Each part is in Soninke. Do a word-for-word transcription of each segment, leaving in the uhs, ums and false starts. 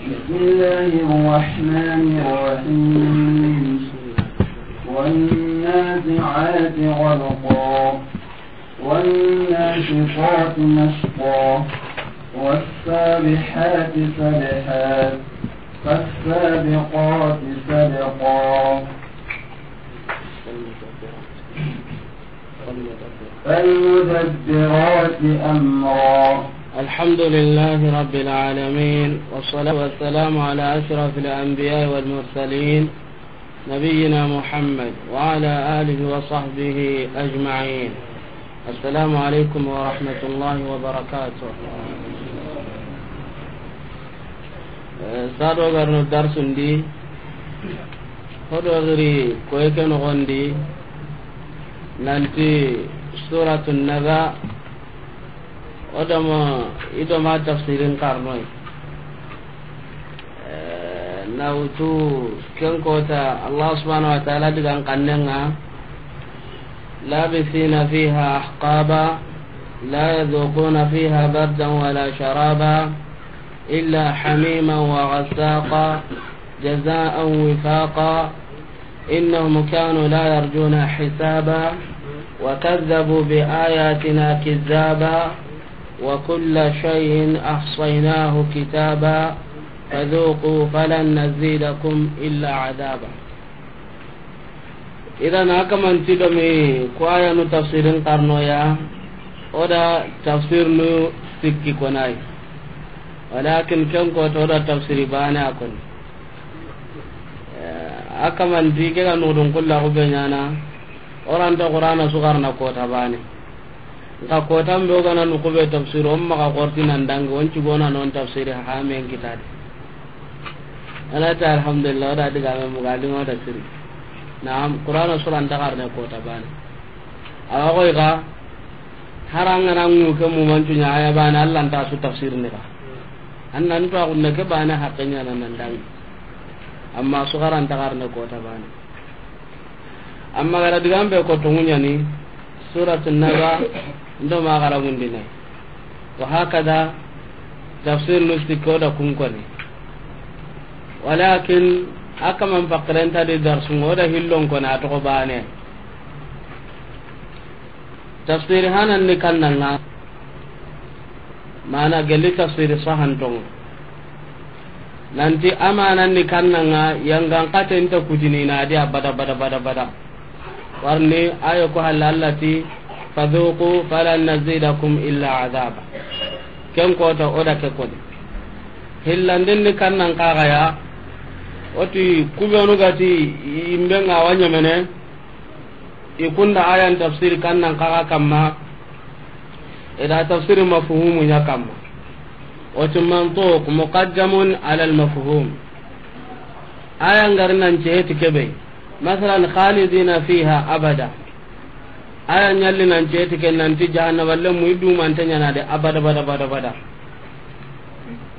بسم الله الرحمن الرحيم. والنازعات غرقا، والناشطات نشطا، والسابحات سبحا، فالسابقات سبقا، فالمدبرات أمرا. الحمد لله رب العالمين، والصلاة والسلام على أشرف الأنبياء والمرسلين، نبينا محمد وعلى آله وصحبه أجمعين. السلام عليكم ورحمة الله وبركاته. Eh, sado garno darsundi, hodo giri koyke nogondi, nanti Suratun Naba, odama, idoma tafsirin karnoi. Eh, na wutu ken kota Allah subhanahu wa ta'ala digan kannenga, لابثين فيها أحقابا لا يذوقون فيها بردا ولا شرابا إلا حميما وغساقا جزاء وفاقا إنهم كانوا لا يرجون حسابا وكذبوا بآياتنا كذابا وكل شيء أحصيناه كتابا فذوقوا فلن نزيدكم إلا عذابا. Idan, a kamanti domi ko ayanu tafsirin karnoya, oda tafsir nu sikki konai. Walakin ken ko to oda tafsiri bane a koni. Eh, a kamanti ke ga nudun kulla ku be nyana, oranta Qur'ana sugarna kota bane. Nka kotan be o gana nuku be tafsir, o maxa xorti nan dangi, o nci gona non tafsiri ha men kitadi. Ala ta alhamdulillah, o da diga me muga di o da siri. Naam, Qur'ana sura nta xarne kota bane. Awa koy ga, haranga na ngu ke mu mancu nya aya bane, Allah nta su tafsir ni ga. Annan to a gunne ke bane haqqe nya nan dangi. Amma sugara nta xarne kota bane. Amma gara digan be ko to ŋuɲani, Suratun Naba, ndo ma gara mundine. Wa hakada, tafsir nu sikko da kun koni. Walakin, a kaman pakren ta di darsu ŋo da hillon koni a toxo bane. Tafsiri hanan ni kannanga, mana gelli tafsiri sahantonga. Nanti amanan ni kannanga, yangan katen ta kutini na di abada, bada, bada, bada. Warni ayo ko halla Allah ti, "Fadhuqu falan nazidakum illa adhaba." Ken kota oda ke koni. Hillandin ni kannan kaga ya, oti kubenu gati imbe nga wanyamene, I kunda ayan tafsiri kannan kaga kamma, ida tafsiri mafhumu nya kamma. Wati mantuq muqaddamun ala al mafhum. Ayan gari nan ceheti kebe. Masalan, khalidina fiha abada. Ayan nyalli nan ceheti ken nanti jahannaba lemu i dumante nyana de abada, bada, bada, bada.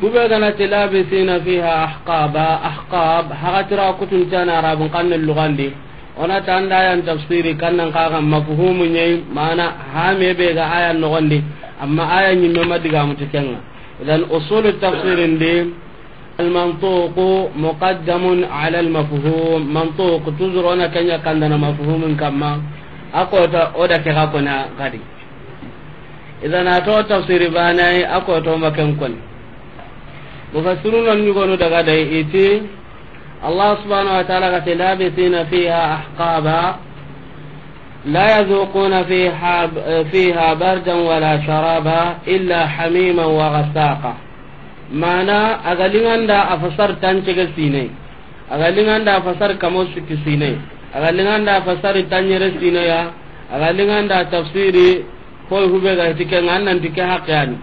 Kube gana ti labisina fiha ahqaba, ahqab, hagatira kutun cana arabun kanne lugandi. Ona tanda ayan tafsiri kannan kaga mafhumu nyai, mana hame be ga ayan nogondi, amma ayan nyimme madiga mutikenga. Idan usulu tafsirin di, al mantuqu muqaddamun ala al mafhum, mantuq tuzuru ona kenya kandana mafhumun kamma, akota oda ke ga kona gadi. Idan a to tafsiri banai, a ko to maken koni. Mufassiruna nyugonu daga dai iti, Allah subhanahu wa ta'ala ga te, "Labithina fiha ahqaba, la yazuquna fiha, fiha bardan wala sharaba, illa hamiman wa ghassaqa." Mana, a ga linganda a fasar tancege sine. A ga linganda a fasar kamo sikki sine. A ga linganda a fasar tanyere sine ya. A ga linganda a tafsiri koy hube ga hiti ke ngan nan ti ke haqqe yani.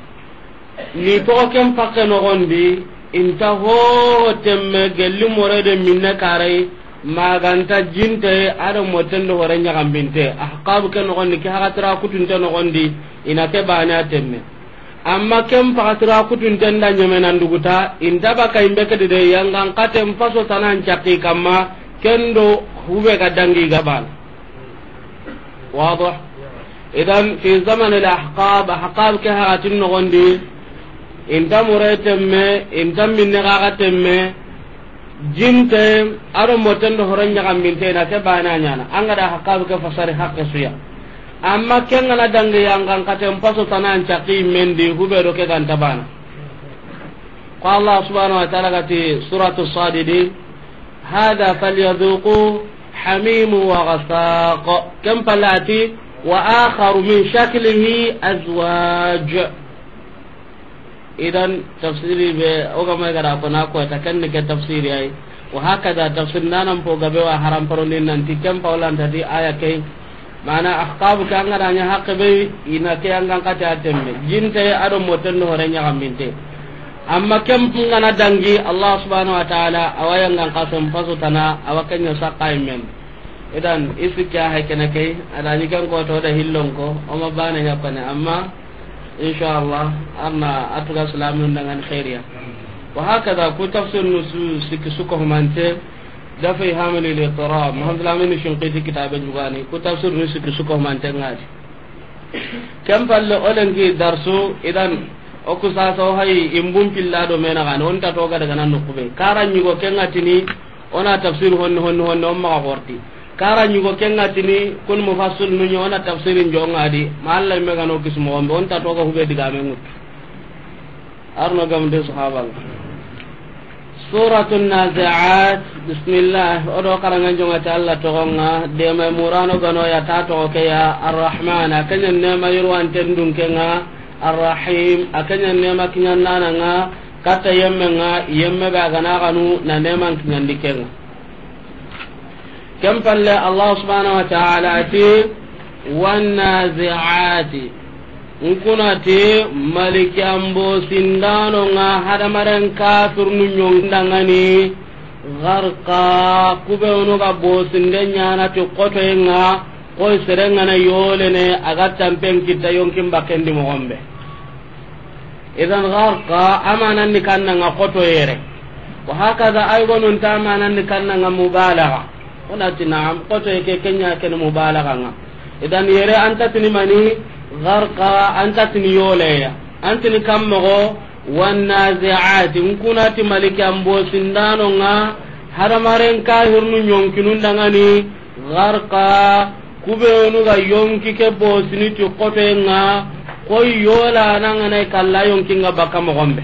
Ni to ken pakke nogondi, inta ho temme gelli more de minne karai, maganta jinte, ado motendo hore nyagambinte. Ahqab ke nogondi, ke hagatira kutunte nogondi, ina ke bane a temme. Amma ken pagatira kutunten da ɲemenan duguta, inta baka imbe kedi de, yangan katen paso tanan cakki kamma, kendo hube ga dangi gaban. Wado? Idan, fi zaman al ahqab, ahqab ke hagatin nogondi, Inta mure temme, inta minne gaga temme, jinte, ado moten do horon ɲaxaminte, na ke bana ɲana. An ga da haqqa be ke fasari haqqe su ya. Amma ken ga na dangi yangan katen paso tanan caqi mendi, hube do ke ganta bana. Ko Allah subhanahu wa ta'ala ga ti suratu Sadidi, "Hadha falyadhuqu hamimu wa ghasaq." Ken palle a ti, "Wa akharu min shaklihi azwaj." Idan tafsiri be o ga ma ga da ko na ko ta ken ni ke tafsiri ay. Wa hakada tafsir nanan po gabe wa haram paroni nanti ken pa wala ntati aya kay. Mana ahqabu ke an ga da ɲa haqqe be, ina ke yangan kate a temme. Jinte ado moten do hore ɲaxaminte. Amma ken ga na dangi Allah subhanahu wa ta'ala, awa yangan kasen paso tana, awa ken ɲa saqqa men. Idan, i sikki a hay kene key, a da ɲi ken ko to da hillon ko, o ma bane ɲa kone, amma, inshallah, arna a tuga silamin dangan khairiya. Wa hakada, ku tafsir nu su sikki su ko humante, Dafi Hamil al Ittirab, Muhammad Lamin Shinqiti kitabe jugani, ku tafsir nu sikki su ko humante ngadi. Ken palle o lenki darsu, idan, o ku sasa o hay imbun pilla do mena gani, on ta to ga daga nan nukube. Kara ɲugo ken ŋa tini, o na tafsir honni, honni, honni, on maxa horti. Kara ɲugo ken ŋa tini, kun mufassir nu ɲi, o na tafsirin jo ŋa di, ma Allah me gano kismo on, on ta to ga hube diga me ŋut. Arno gam de sahaba. Suratun Nazi'at, bismillah, o do karangan jonga ta Allah togonga, de mai murano gano ya ta togo ke ya, Ar-Rahman, a kanya nema yurwan tendun kenga, Ar-Rahim, a kanya nema kinyan nana nga, kata yemme nga, yemme ba gana ganu, na neman kinyan dikenga. Ken palle Allah subhanahu wa ta'ala ati, "Wannazi'ati." Nkunati malikiyan bosindano nga hadamaren kafirnu ɲongindangani gharqa, kubenu ga bosinde ɲana ti kotoyenga, koy serengana yolene aga tampen kitta yonkin bakendi mogombe. Idan gharqa amanan ni kannanga koto yere. Wa hakaza ay gonun ta amanan ni kannanga mubalagha. Onati na'am, koto ke kenya ken mubalagha nga. Idan yere anta tini mani gharqa, anta tini yoleya. Antini kammogo, wannazi'ati, nkunati malikiyan bosindano nga, hadamaren kahirnu ɲonkinun dangani, gharqa, kubenu ga yonki ke bosini ti kotoyenga, koy yola nangana kalla yonkinga baka mogombe.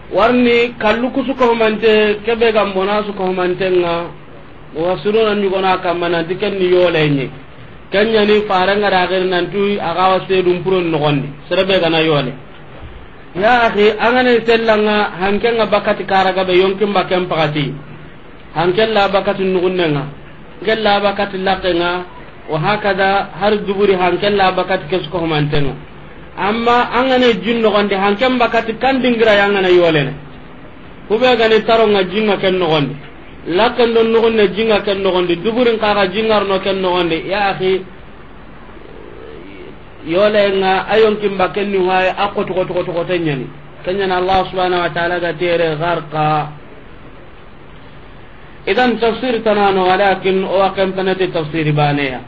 Warni kallu kusu ko mante, kebe ga mbona su ko mantenga, wa suruna ni gona kamana diken ni yole ni. Kenya ni faranga da gari nan tu aga wa sedum puron no gondi. Serebe gana yole. Ya akhi, angane sellanga hankenga bakati karaga be yonkin baken pakati. Hankella bakati nugunnenga, hankella bakati lakkenga, wa hakada har duburi hankella bakati kesu ko humantenga. Amma angane jin nogondi hanken bakati kan dingira yangana yolene. Kube gani taronga jinga ken nogondi. Lakken don nugunne jinga ken nogondi. Duburin kaga jingarno ken nogondi. Ya akhi, yolenga ayonkin baken ni waye a kotu kotu kotu kotu nyani. Kenyana Allah subhanahu wa ta'ala ga tere gharqa. Idan tafsir tanano, walakin o wa ken panati tafsiri baneya.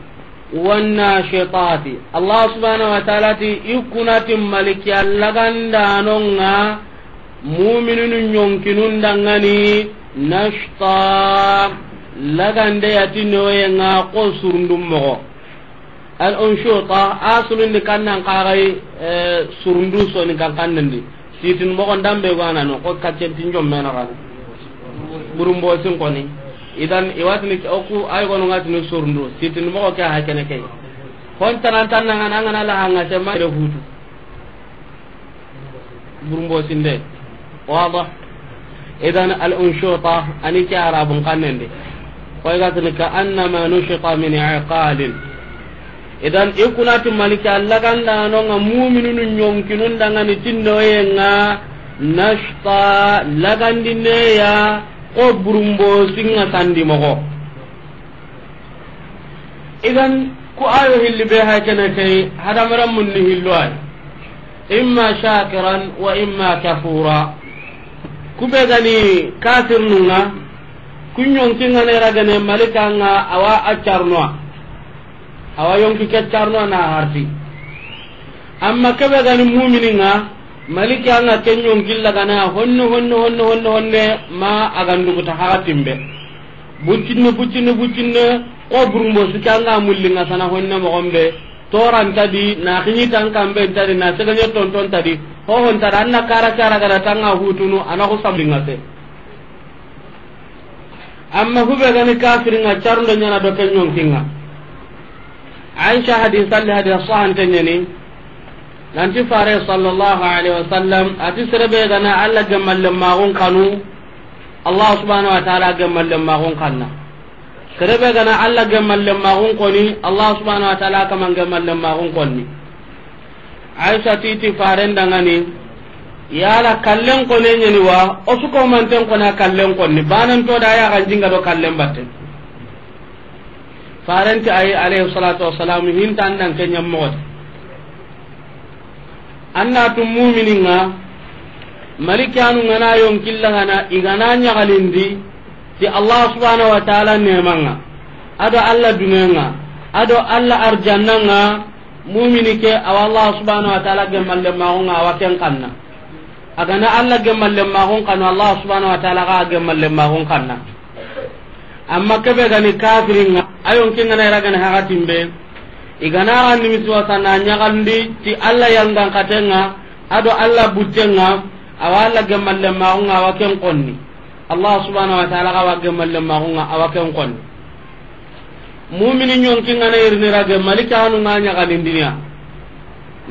Wannashitati. Allah subhanahu wa ta'ala ti ikunati maliki allagandanonga mu'minunu ɲonkinun dangani nashta lagande yati noyenga ko surundum mogo. Al unshuta, asulun di kannan kagai, eh, surundu soni kan kannandi. Sitin mogon dambe gwana no, ko kaccen tinjom mena gana. Burumbo sin koni. Idan iwatini oku ay gono ngatini surundu. Sitin mogo ke ha kene ke. Hon tanan tanan ngana ngana la hanga se ma re hutu. Burumbo sinde. Wada. Idan al unshuta ani ke arabun kannende. Koy gatini ka annama nushita min iqalin. Idan ikunati maliki allaganda nonga mu'minunu ɲonkinun dangani tinnoyenga nashta lagandineya ko burumbo singa sandi mogo. Idan ku ayo hilli be ha kene kay hadamaran munni hillo ay. Imma shakiran wa imma kafura. Kube gani kafirnunga ku ɲonkinga ne ragane malikanga awa a carnoa. Awa yonki ke carnoa na harti. Amma kebe gani mu'mininga Maliki an ga ken ɲonkilla gana honne, honne, honne, honne, honne, ma a ga nduguta haxa timbe. Buccinne, buccinne, buccinne, ko burumbo sike an ga mullinga sana honne moxon be. Toranta di, na xiɲi tan kambe nta di, na segaɲe tonton ta di, hohon ta di, an na kara kara gada tanga hutunu, a na xo samlinga se. Amma hube gani kafiringa carundo ɲana do ken ɲonkinga. Aisha hadisa li hadisa sahante ɲani. Nanti fare sallallahu alaihi wasallam ati serebe gana Allah gemalle magun kanu. Allah subhanahu wa ta'ala gemalle magun kanna. Serebe gana Allah gemalle magun koni. Allah subhanahu wa ta'ala kaman gemalle magun konni. Aisha titi faren dangani, yala kallen kone ɲeni wa, o su ko manten kona kallen konni, banan to da ya ganjinga do kallen batte. Farenti ayi, alayhi salatu wassalam, hinta andan ke ɲammoxoti. Anna tu mumininga, malikanu ngana yonkilla gana, igana ɲagalindi, ti Allah subhanahu wa ta'ala nemanga, ado Allah dunenga, ado Allah arjannanga, mumini ke, awa Allah subhanahu wa ta'ala gemalle maxunga, awa ken kanna. Agana Allah gemalle maxun kanu, Allah subhanahu wa ta'ala ga gemalle maxun kanna. Amma kebe gani kafiringa, ayon kingana ira gani hakatimbe, igana gandi misiwasa na ɲagandi ti Allah yangan katenga, ado Allah buttenga, awa Allah gemalle maxunga, awa ken konni. Allah subhanahu wa ta'ala ga wa gemalle maxunga, awa ken konni. Mumini ɲonki ngana irini rage, malikanu nga ɲagalindiniya.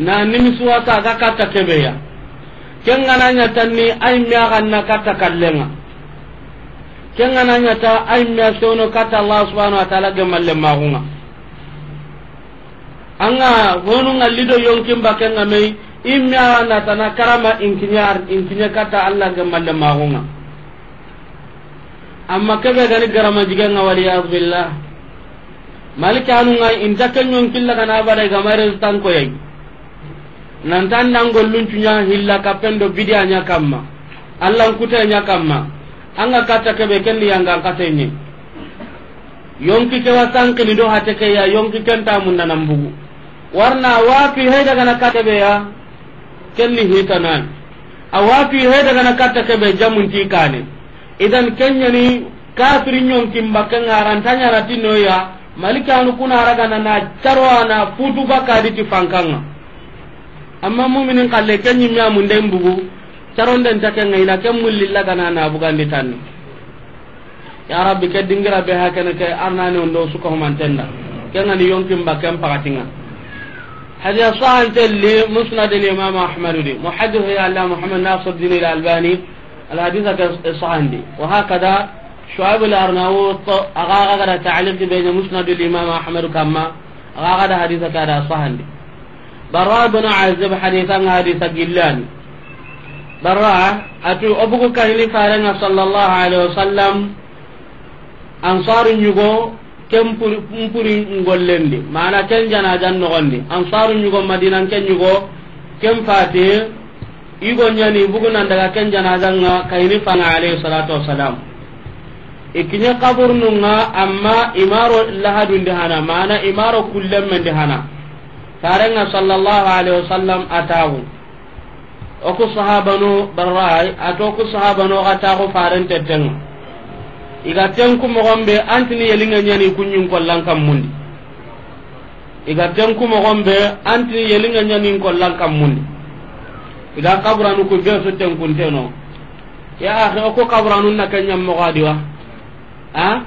Na nimisuwasa ga katta kebeya. Ken ngana ɲa tanni, ay miya ganna katta kallenga. Ken ngana ɲa ta, ay miya sewno katta Allah subhanahu wa ta'ala gemalle maxunga. Anga honu nga lido yonkin bakenga mei, immiya na tana karama inkinyar, inkinye katta Allah gemalle maxunga. Amma kebe gani garama jigenga, wal iyaz billah. Malikanu nga inta ken ɲonkilla gana bada igama restan koyai. Nantan nan gollun cunya hilla kapendo bidiya ɲa kamma. Allah nkute ɲa kamma. Anga katta kebe ken ni yangan katenye. Yonki ke wa sankini do hate ke ya, yonki ken ta munda nan bugu. Warna wapi hay daga na katta be ya, ken ni hitanan. A wapi hay daga na katta kebe jamun ti kane. Idan ken ɲani kafiri ɲonkin bakenga, aranta ɲana tinno ya, malikanu kuna raga na na caro ana futu baka di ti fankanga. Amma muminin kalle ken ɲimme amunden bugu, caronden ta kenga ina ken mullilla gana na bugandi tanni. Ya Rabbi, ke dingira be hakene ke arnani ondo suka humantenda. Ken ngani yonkin baken pakatinga. Hadiya sahante li Musnad al Imam Ahmad di. Muhaddith ya Allah Muhammad Nasiruddin al Albani, al haditha ke sahandi. Wa hakada Shu'aib al Arnaut, aga aga da ta'liq be Musnad al Imam Ahmad kamma, aga aga da haditha ke da sahandi. Bara bin Azib haditha nga haditha gillani. Bara atu obugu kahini farenga sallallahu alaihi wasallam, Ansaru ɲugo, ken puri, mpuri ngollendi, mana ken janajan nogondi. Ansaru ɲugo Madina, ken ɲugo, ken fati, igo ɲani bugunan daga ken janajanga kayini fanga alayhi salatu wassalam. Ikiɲe kaburununga, amma imaro lahadundi hana, mana imaro kullemmendi hana. Farenga sallallahu alaihi wasallam atawu. Oku sahabanu Barra, ato ku sahabanu ga taxu faren tettenga. Iga tenku moxon be, antini yelinga ɲani kuɲin kollan kammundi. Iga tenku moxon be, antini yelinga ɲani kollan kammundi. Iga kaburanu ku be su tenkunteno. Ya akhi, oku kaburanu na kenya moxo adiwa. Ha?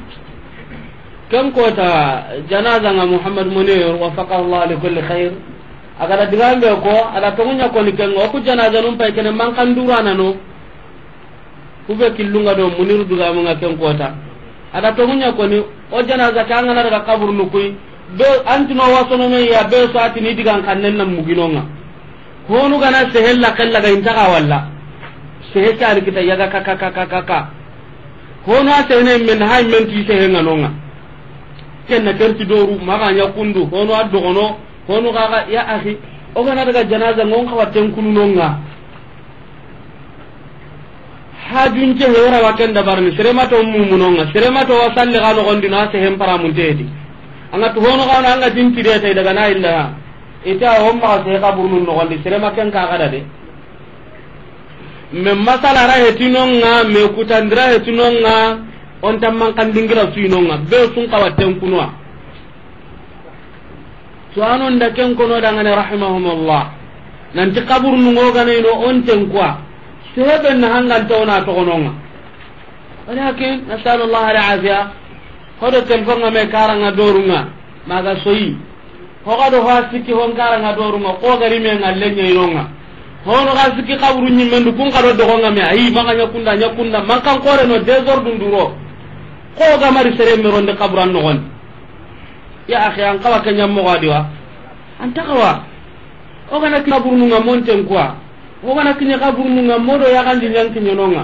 Ken kota janaza nga Muhammad Munir, waffaqahu Allah li kulli khair. Agada digambe ko, ada tongunya ko ni ken, oku janaza num pay kene man kan durana no. Kube killunga do Munir dugamu nga ken kota. Ada tongunya ko ni, o janaza ka ngana daga kabur nukui. Be antino wasono me ya be so atini digan kannen na muginonga. Honu gana sehella kella ga inta ga walla. Sehe cari kita yaga ka, ka, ka, ka, ka, ka. Hono a sehene men, hay men ti sehe nga nonga. Kenna kerti doru, maga nya kundu, hono a dogono, hono ga ga, ya akhi, o gana daga janaza ngon ka watten kunu nonga. Hajun ce hewra wa ken dabarni, sere ma to mumunonga, sere ma to wa salli ga nogondi na sehen paramun tedi. Anga to hono ga na anga tin tide tay daga na illa. Ita o ma sehe kaburunun nogondi, sere ma ken ka ga da de. Me masala ra hetino ŋa, me kutandi ra hetino ŋa, o nta manxandingira su yi no ŋa, be su n xawa tenkuno wa. Tuwaano nda ken kono dangane, rahimahumullah. Nanti kaburunu ŋo gana i no o n tenkuwa. Sebe na hanganta o na toxono ŋa. Walakin, nasalullah al-afiya. Hodo telefon ŋa me kara ŋa doru ŋa. Maga soyi. Ho ga do ho a sikki ho n kara ŋa doru ŋa. Ko gari me ŋa lenya i no ŋa. Hono ga sikki kaburu ɲimmendu kun ka do dogo ŋa me. Ayi, maga ɲa kunda, ɲa kunda. Manxan kore no, désordre nduro. Ko ga mari sere me ronde kaburan noxon. Ya akhi, an xawa ke ɲa moxo a di wa? An ta xawa. O gana kiɲe kaburunu ŋa, mo n tenkuwa. O gana kiɲe kaburunu ŋa, mo do yaxanji ɲa n kiɲe no ŋa.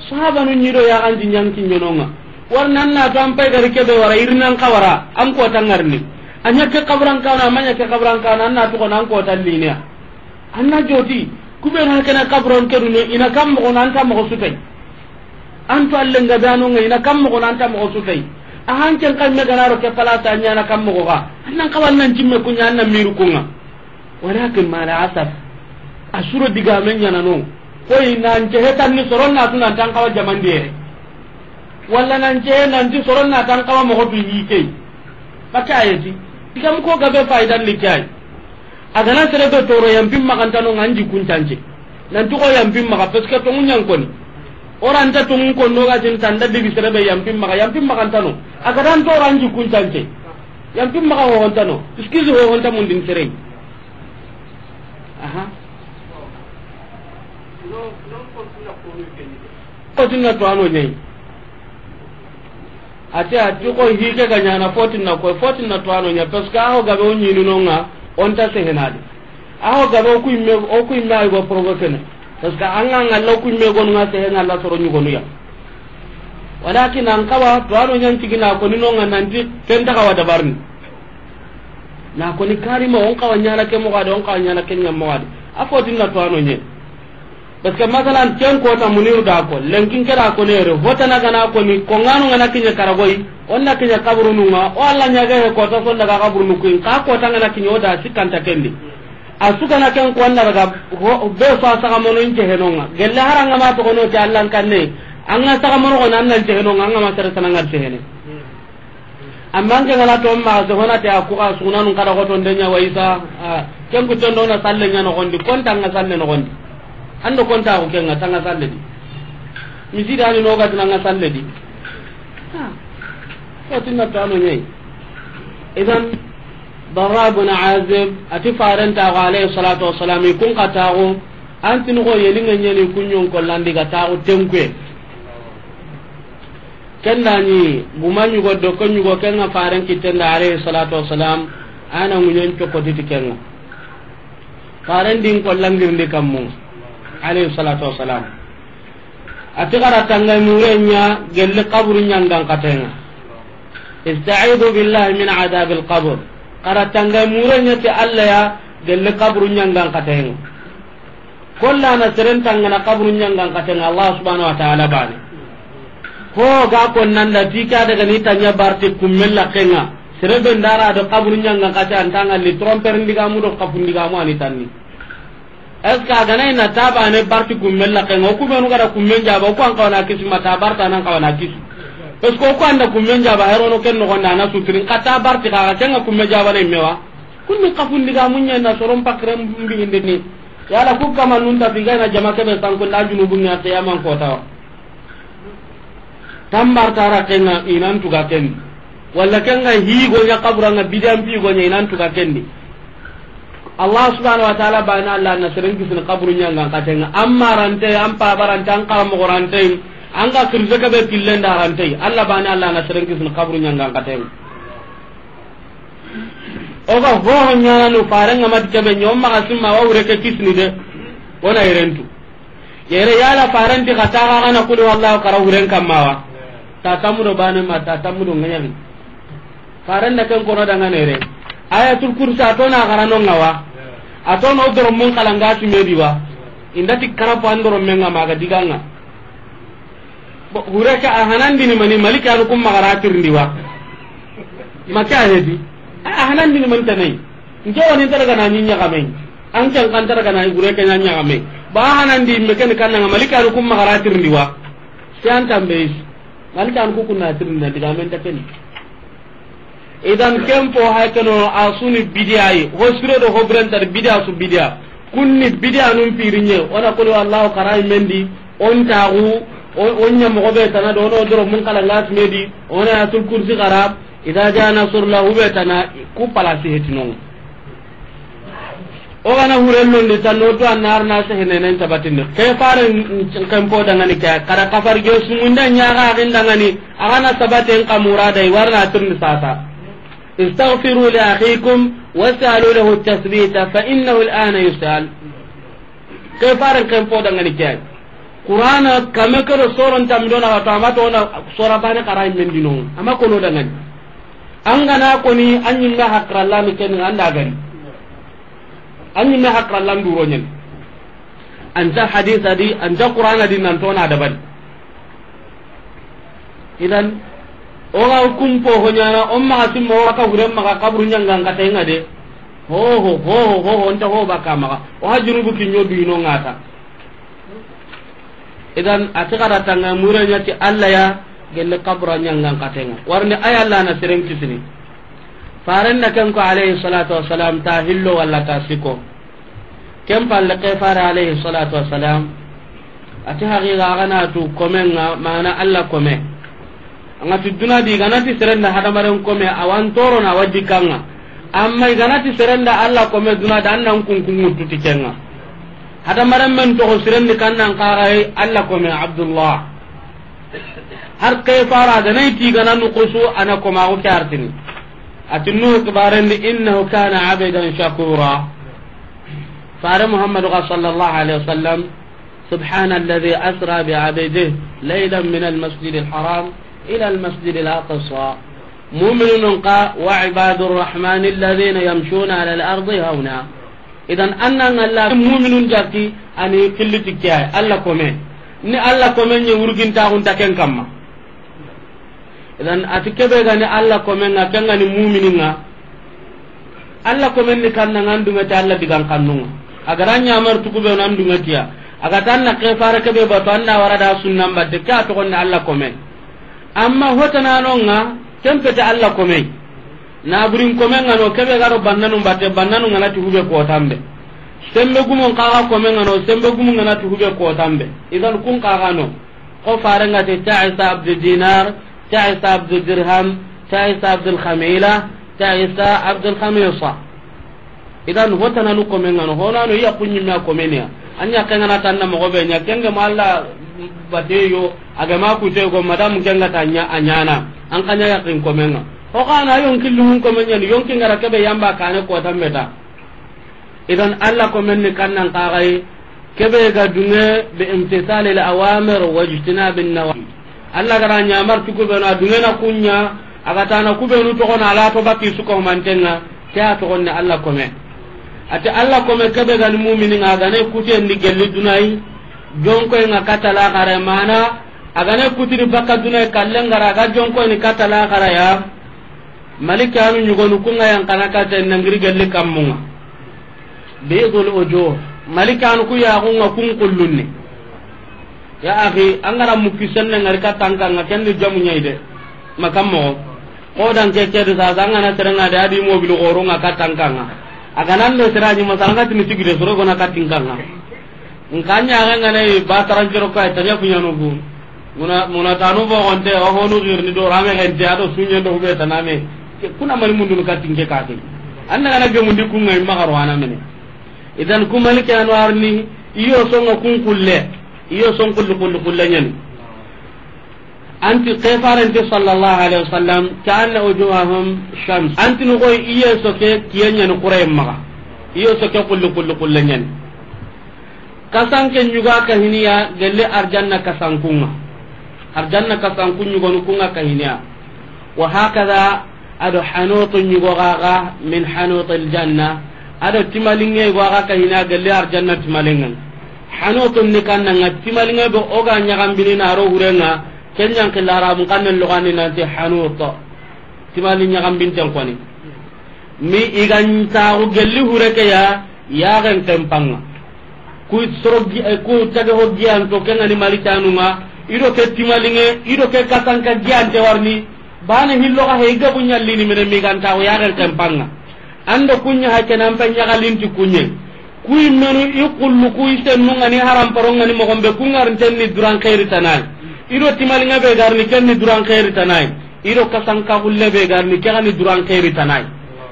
Sahabanu ɲi do yaxanji ɲa n kiɲe no ŋa. Wari nan na to an pay gari kebe wara, irinan xawara, an kota ŋarini. A ɲa ke kaburan kawana, a ma ɲa ke kaburan kawana, an na toxo na an kota liniya. An na joti, kubenu hakana kaburan kedu no, i na kan moxo no, an ta moxo su tay. An to Alla nga dano ŋa, i na kan moxo no, an ta moxo su tay. A han ken kan me gana ro ke palasa ɲa na kan moxo ga. An nan xawa nan jimme kuɲa, an na miru ku ŋa. Walakin ma la asaf. A su ro digamen ɲa na no. Koy nan ce hetan ni soron na tu nan ta an xawa jamandiyere. Walla nan ce, nan ti soron na ta an xawa moxo tu yi key. Baka ayeti. Digam ko gabe fayidan ni kay. A gana sere be toro, yanpin maxa nta no ŋa, an jikkun cance. Nanti xo yanpin maxa, parce que tonŋu ɲa n koni. O ra nta tonŋu koni, o ga tin tanda digi sere be yanpin maxa, yanpin maxa nta no. A ga dan toro, an jikkun cance. Yanpin maxa ho ho nta no. Excuse ho ho nta mundin sere. Aha. Ko tinna to ano ɲa yi. Ati, ati ko hike ga ɲana fotinna ko, fotinna to ano ɲa, parce que a ho gabe o ɲini no ŋa, o nta sehenadi. A ho gabe o ku imme, o ku imme ay go provoquer ne. Parce que an ga ŋalla o ku imme gonu ŋa, sehen ŋalla soro ɲugonu ya. Walakin an xawa to ano ɲa n tigina ko ni no ŋa nanti ken ta xawa dabarni. Na ko ni karima o n xawa ɲana ke moxo a di, o n xawa ɲana ke ɲa moxo a di. A fotinna to ano ɲa. Parce que masalan, ken kota Muniru da ko, lenkin kera ko nere, hotana gana ko ni, ko ngano ngana kiɲe karagoy, onna kiɲe kaburunu ŋa, o Alla ɲaga he kota son daga kaburunu kuin, ka kota ngana kiɲe o da sikanta kendi. A su gana ken ko anda daga, ho, be so a saga mono ince heno ŋa. Gelle hara ngama to kono ti Alla kanne, anga saga mono ko nan nan ce heno ŋa, ngama sere sananga ce hene. Amma an ke ngana to ma se hona te a ku ga sugunanun kada ko to ndenya wa Isa, a, ken ku tondo na salle ɲa no gondi, konta nga salle no gondi. Ando konta ko ken nga tanga salle di. Misida ni no ga tanga salle di. Ha. Ko tinna to ano ɲa yi. Idan, Barra bin Azib, ati faren ta ko alayhi salatu wassalam, kun ka ta ko, an tin ko yeli nga ɲa ni kunɲon ko landi ga ta ko tenkuye. Ken da ni guma ɲugo do ko ɲugo ken ŋa faren kitten da alayhi salatu wassalam, a na ŋuɲen cokoti ti ken ŋa. Faren din ko langirndi kammu, alayhi salatu wassalam. Ati xara tangay mure ɲa gelle kaburu ɲangan katen ŋa. Ista'idu billahi min adhabil qabr. Xara tangay mure ɲa ti Alla ya gelle kaburu ɲangan katen ŋa. Kolla na seren tangana kaburu ɲangan katen ŋa Allah subhanahu wa ta'ala bane. Ho ga ko nan da ti ka daga ni tanya barti kummel la ken ŋa. Sere be ndara do kaburu ɲangan katen an tanga li tromper ndiga mu do kapu ndiga mu ani tanni. Est-ce que a gana ina ta bane barti kummel la ken ŋa, o ku benu gara kummen jaba, o ku an kawana kisi ma ta barta nan kawana kisi. Parce que o ku anda kummen jaba, herono ken no gonda na sutrin ka ta barti ka ken ŋa kumme jaba na imewa. Kunni kapu ndiga mu ɲa na soron pakren mbi indini. Yala ku kama nun ta biga na jama kebe sanku nda junubu ŋa qiyaman ko tawa. Tambar tara ken ŋa inan tuga ken. Walla ken ŋa higo ɲa kabura ŋa bidan pi go ɲa inan tuga ken di. Allah subhanahu wa ta'ala bana Allah na seren kisini kaburu ɲangan katen ŋa. Amma rante, an pabarante, an karamogorante, an ga kirse kebe pillen da rante. Allah bana Allah na seren kisini kaburu ɲangan katen ŋa. O ga hoho ɲana no faren ŋa mati kebe ɲa, o maxa simma wa wure ke kisini de. Wona yerentu. Yere yala faren ti xa ta xa gana kuli wallahu kara wuren kamma wa. Ta tamudo bane ma ta tamudo ŋaɲani. Faren da ken kono danga nere. Ayatul kursi a to na xara no ŋa wa. A to no doro mun kalanga sumedi wa. Inda ti karapo an doro men ŋa maga diganga. Bo, hure ke a hanandini mani, maliki anu kum magara tirindi wa. Maki a hedi. A, a hanandini mani tanai. Nke wani tara gana ni ɲaxame. An kan kan tara gana hure ke ɲa ɲaxame. Ba hanandi me ken kanna nga malikanu kum magara tirindi wa. Siyan tambe is. Malikanu ku kunna tirindi na diga men ta ken. Idan ken po hay keno a suni bidiya yi. Ho siro do ho birentar bidiya su bidiya. Kunni bidiya nun pirinye. Ona kulu Allahu karay mendi. On taxu. O nya mogo be tana do no doro mun kala ngat medi. Ona ya tul kursi garab. Idha jaa nasrullah be tana ku palasi hetinon. O gana hurellondi tanno to annar na sehenenen tabatindi. Ke faren kempo dangani ke, kada kafar ge sumunda nyaga agin dangani, agana sabaten kamura dai warna tirni sasa. Istaghfiru li akhikum was'alu lahu at-tathbita fa innahu al-ana yus'al. Ke faren kempo dangani ke. Qur'ana kame kedo soron tamidona wato amato ona sora bane karay mendino. Ama kono dangani. An gana koni an ɲimme hakrallami ken anda gari. An ɲimme hakrallan duro ɲen. Anta hadisa di, anta qur'ana di, nan tona dabari. Idan o ga kumpo ho ɲana, o maxa simma, o ka hure maxa kaburu ɲangan katenga de. Ho ho ho ho ho, nta ho baka maxa. O ha junubu kinyo du ino ngata. Idan a ti xara tanga mure ɲa ti Allah ya gelle kabura ɲangan katenga. Warni ay Allah na seren kisini. Faren na ken ko alayhi salatu wassalam ta hillo walla ta siko. Ken palle ke fare alayhi salatu wassalam. A ti haqiqa agana tu komen nga mana Allah kome. Anga ti duna di ganati serenda hadamaren kome awan toro na wadi kanga. Amma ganati serenda Allah kome duna da annan kun kun mutu tikenga. Hadamaren men to sirendi kannan kagai Allah kome Abdullah. Har ke fara ganai ti gana nukusu ana koma ko kartini. Ati Nuhu kibarendi innahu kana abdan shakura. Fare Muhammadu ga sallallahu alaihi wasallam. سبحان الذي أسرى بعبده ليلا من المسجد الحرام إلى المسجد الأقصى. مؤمنون قا وعباد الرحمن الذين يمشون على الأرض هونا. Idan annan Allah mu'minun jati ani killiti kiyai Allah kome. Ni Allah kome ni urgin ta hun ta ken kamma. Idan ati kebe gani Allah komen nga ken gani muminin nga. Allah komen ni kanna nga ndunga ti Allah digan kannunga. Agara nyamar tuku be nan dunga tiya. Aga tanna ke fara kebe batu anda wara da sunnan batte ka to konni Allah komen. Amma hota nano nga kempete Allah komen. Na burin komen nga no kebe garo bannanu batte bannanu nga na ti hube ko tambe. Sembe gumon kaga komen nga no sembe gumun nga na ti hube ko tambe. Idan kun kaga no. Ko farengati ta'isa abdu dinar, ta'isa abdu dirham, ta'isa abdul khamila, ta'isa abdul khamisa. Idan hotana nu komen ngano honano iya kunyi me a komeniya. Anya kengana tanna mo be nya kenge malla bateyo aga ma ku te go madam kenga tanya anyana an kanya ya kin komenga. Ho kana yon killu mun komenya yon kingara kebe yamba kane ko tambeta. Idan Allah ko men ni kannan kagai kebe ga dunge bi imtisalil awamir wa ijtinabin nawahi. Allah gara nyamar tuku be na dunge na kunya aga tana ku be nu to kona ala to baki su ko mantenga. Ke a to gonne Allah kome. Ati Allah kome kebe ga ni mu'mini nga ga ne kute ndi gelli dunai. Jonko nga katala gare mana aga ne kutiri baka dunai kallen gara ga jonko ni katala gara ya. Malikanu ɲugonu kunga yan kana kate nangiri gelli kammunga. Bidul ujuh. Malikanu ku yaxunga kun kullunni. Ya akhi, angara mukki senne ngari katanka nga kenni jamu ɲaide. Makammo. Ko dan ke ke de sasa ngana serenga de adi mobil goro nga katanka nga. Aga nan de seraji masanga tini tigide soro gona katinkanga. Nka ɲaxe nga ne ba taranjero kay tanya kuɲano bu. Muna muna tanu bo gonte o honu girni do rame gente ado sunye do be taname. Kuna mani mundu ka tinke ka ke. Anda kana ge mundi kunga imma garo ana mene. Idan kumani ke anwarni iyo songa kun kulle. Iyo son kullu kullu kullu nyen. Anti kefarante sallallahu alaihi wasallam ka anna wujuhahum shams. Anti no koy iye soke kiyenya no kuray maga. Iyo soke kullu kullu kullu nyen. Kasanke ɲuga kahiniya gelle arjanna kasankunga. Arjanna kasankun ɲugonu kunga kahiniya. Wa hakaza ado hanutu ɲugo gaga min hanutil janna. Ado timalinge go aga kahiniya gelle arjanna timalinge. Hanutun ni kannanga timalinge be oga ɲagambini na ro hurenga. Kenyan killa arabun kannen logani nanti hanut. Timali ɲagambinten koni. Mi igan taxu gelli hure ke ya yaxen kempanga. Ku soro gi-, eh, ku tage ho giyanto, ke ŋa ni malikanun ŋa, i do ke timalinŋe, i do ke kasanka giyante warni, bane hillo ga he, i gabu ɲallini mene, migantaxu yaxen kempan ŋa. An do ku ɲa ha ke nan pe ɲaxalinti ku ɲe. Ku yimmenu i xullu ku i sennun ŋa ni haramparon ŋa ni moxon be, ku ŋarinten ni duran xeeri tana yi. I do timalinŋe be ga ri ni, ken ni duran xeeri tana yi. I do kasanka xulle be ga ri ni, ke ga ni duran xeeri tana yi.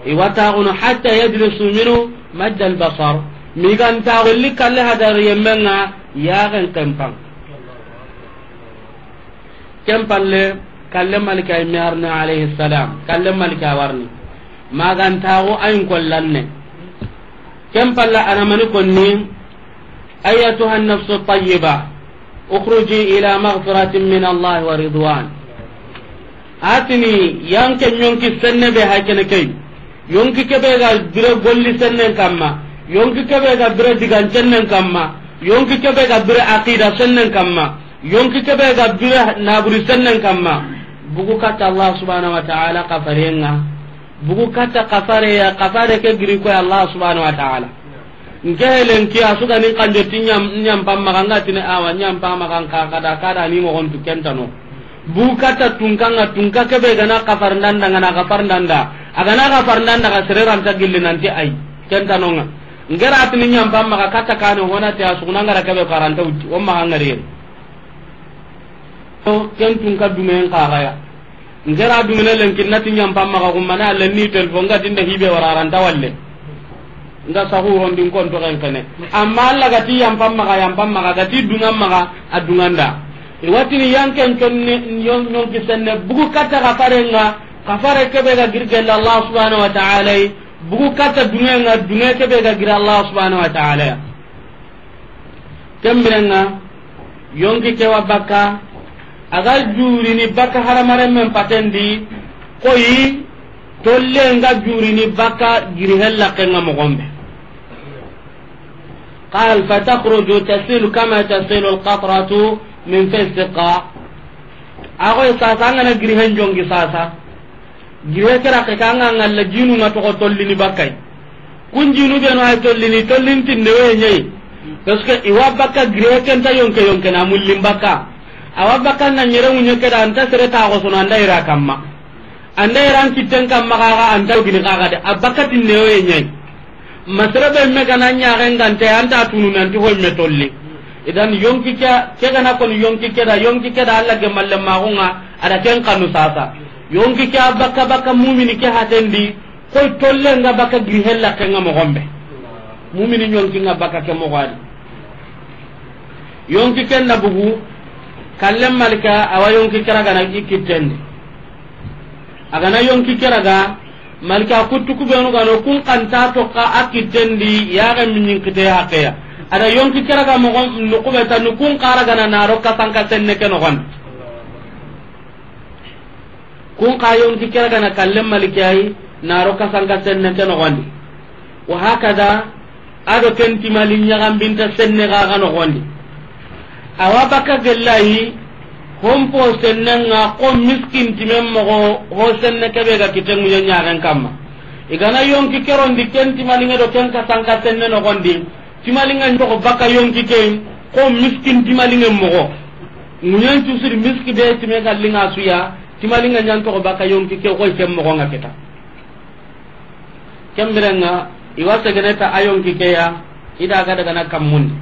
I wa taxunu hatta yajlisu minhu madda al-basar. Migantaxu li kalle hadari yemmen ŋa yaxen kempan. Ken palle, kalle malika yi me arni alayhi salam. Kalle malika warni. Magantaxu ayin kollanne. Ken palle a na mani konni, ayyatuha an-nafsu at-tayyiba, ukhruji ila maghfiratin min Allah wa ridwan. A tini, yanke ɲonki senne be, hay kene key. Yonki kebe ga bire golli sennen kamma. Yonki kebe ga bire digan sennen kamma. Yonki kebe ga bire aqida sennen kamma. Yonki kebe ga bire naburi sennen kamma. Bugu katta Allah subhanahu wa ta'ala kafarenŋa. Bugu katta kafare ya, kafare ke giri ko Allah subhanahu wa ta'ala. Nke helen ki a su ga ni kanjo ti ɲam-, ɲampan maxa, nga tini awa ɲampan maxa, nka kada, kada ni moxon tu kentano. Bugu katta tunka ŋa, tunka kebe ga na kafar ndanda ŋa na kafar ndanda. A ga na kafar ndanda ga sere ranta gilli nanti ay. Kentano ŋa. Ngera tini ɲampan maxa katta kane hona te a su na ngara kebe karanta uti. O maxa ngari. To, ken tunka dumen kaxaya. Ngera dumene lenki nati ɲampan maxa kummana, a lenni telefon ga tinda hibe wararanta walle. Nga saxurondin konto ken kene. Amma Allah ga ti yampan maxa, yampan maxa, ga ti dungan maxa, a dunganda. I wa tini yanken conne, ɲon-, ɲonki senne, bugu katta kafarenŋa, kafare kebe ga giri gella Allah subhanahu wa ta'ala yi, bugu katta dungenŋa, dunge kebe ga giri Allah subhanahu wa ta'ala ya. Ken birenŋa, yonki ke wa bakka, a ga jurini bakka hadamarenmen patendi, koyi, tolle nga jurini bakka giri hella kenŋa moxon be. Qal, فتخرج تسيل كما تسيل القطرة من في السقاء. A koy sasa, an ga na giri hen jongi sasa. Gire kera ke ka nga ngalla jinu nga toxo tollini bakkay. Kun jinu benu ay tollini, tollin tinne we ñayi. Parce que i wa bakka gire ken ta yonke yonke na mullin bakka. A wa bakka na ñere ŋuñe ke da anta sere ta xo sono anda ira kamma. Anda ira an kitten kamma xa xa anta gini xa xa de. A bakka tinne we ñayi. Masere be me gana ñaxen gante anta tunu nanti hoy me tolli. Idan yonki ke, ke gana kon yonki ke da, yonki ke da Alla gemalle maxunga, a da ken kanu sasa. Yonki ke a bakka bakka mumini ke hatendi, koy tolle nga bakka giri hella ke nga moxon be. Mumini yonki nga bakka ke moxo a di. Yonki ken na bugu, kallen malika, awa yonki ke ra gana i kittendi. A gana yonki ke ra ga, malika kuttu kubenu gano, kun kanta toxa a kittendi, yaxe miñin kite haqeya. A da yonki ke ra ga moxo, nukube tanu kun xa ra gana naro kasanka senne ke noxon. Kun xa yonki ke ra gana kallen malike ay, naro kasanka senne ke noxondi. Wa hakada, a do ken timali ñaxambinta senne xa xa noxondi. Awa bakka gellayi, hompo sennenga xo miskin timen moxo, ho senne kebe ga kite ŋuña ñaxen kamma. I gana yonki ke rondi ken timalinge do ken kasanka senne noxondi. Timalinga ñoxo bakka yonki ke, xo miskin timalinge moxo. Ŋuñen cusiri miski be time gallinga suya, timalinga ñan toxo bakka yonki ke, xoy ken moxo nga kita. Ken birenga, i wa segene ta a yonki ke ya, i da ga daga na kammundi.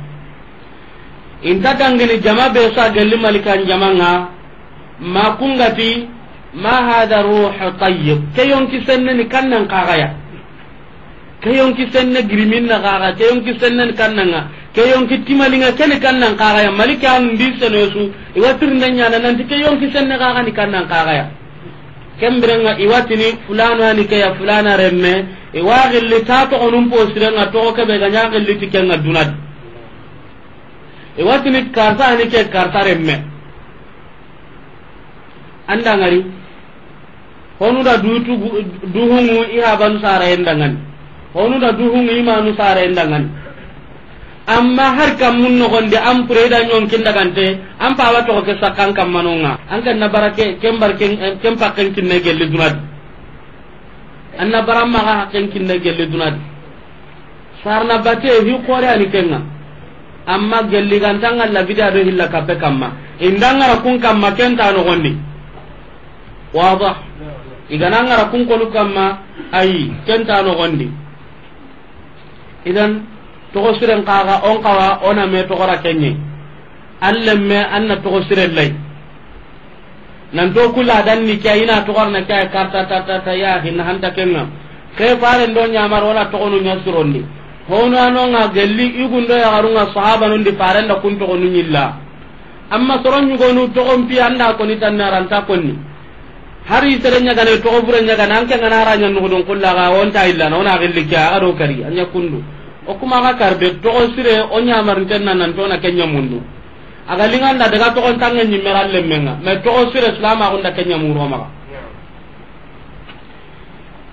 Inta dangini jama be sa gelli malikan jamanga, ma kungati, ma hada ruhu tayyib. Ke yonki senne ni kannan xaxaya. Ke yonki senne girimin na xaxa, ke yonki senne ni kannanga, ke yonki timalinga ke ni kannan xaxaya. Malika an di sene su, i wa tirinde ñana nanti ke yonki senne xaxa ni kannan xaxaya. Ken birenga i wa tini fulana ni ke ya fulana remme, i wa gilli ta toxonun po sirenga toxo kebe ga ña gilli ti kenga dunadi. I wa tini karta ni ke karta remme. Anda ngari. Honu da dutu gu-, duhungu i habanu sara endangani. Honu da duhungu i manu sara endangani. Amma har kammun noxondi an pure da ñonkin dagante, an pawa toxo ke sakkan kammanonga. An ken na bara ke, ken bar ken, ken pakken kinne gelli dunadi. An na bara maxa hakken kinne gelli dunadi. Sarna bate hi xore ani kenga. Amma gelli ganta ŋalla bida do hilla kappe kamma. Inda ŋara kun kamma ken ta nogondi. Wada. I ga na ŋara kun konu kamma, ayi, ken ta nogondi. Idan, toxo siren xaxa, o n xawa, o na me toxora kenye. An lemme, an na toxo siren lay. Nan to kula dan ni ke, i na toxorna ke, karta, ta, ta, ta, ya, hin hanta kenŋa. Ke faren do ɲamar, o na toxonu ɲa sirondi. Hono a no ŋa gelli, i gundo yaxaru ŋa sahabanun di faren da kun toxonu ɲilla. Amma soro ɲugonu toxon pi an da koni tan na ranta konni. Hari sere ɲagane toxo bure ɲagane an ke ŋa na ra ɲa nugudun kulla ga o nta illa na o na gelli ke a ga do kari a ɲa kundu. O kuma ga karbe toxo sire o ɲamarinten na nan to na ke ɲa mundu. A ga linganda daga toxon tanŋe ɲimme ra lemmenŋa. Mais toxo sire silamaxun da ke ɲa muro maxa.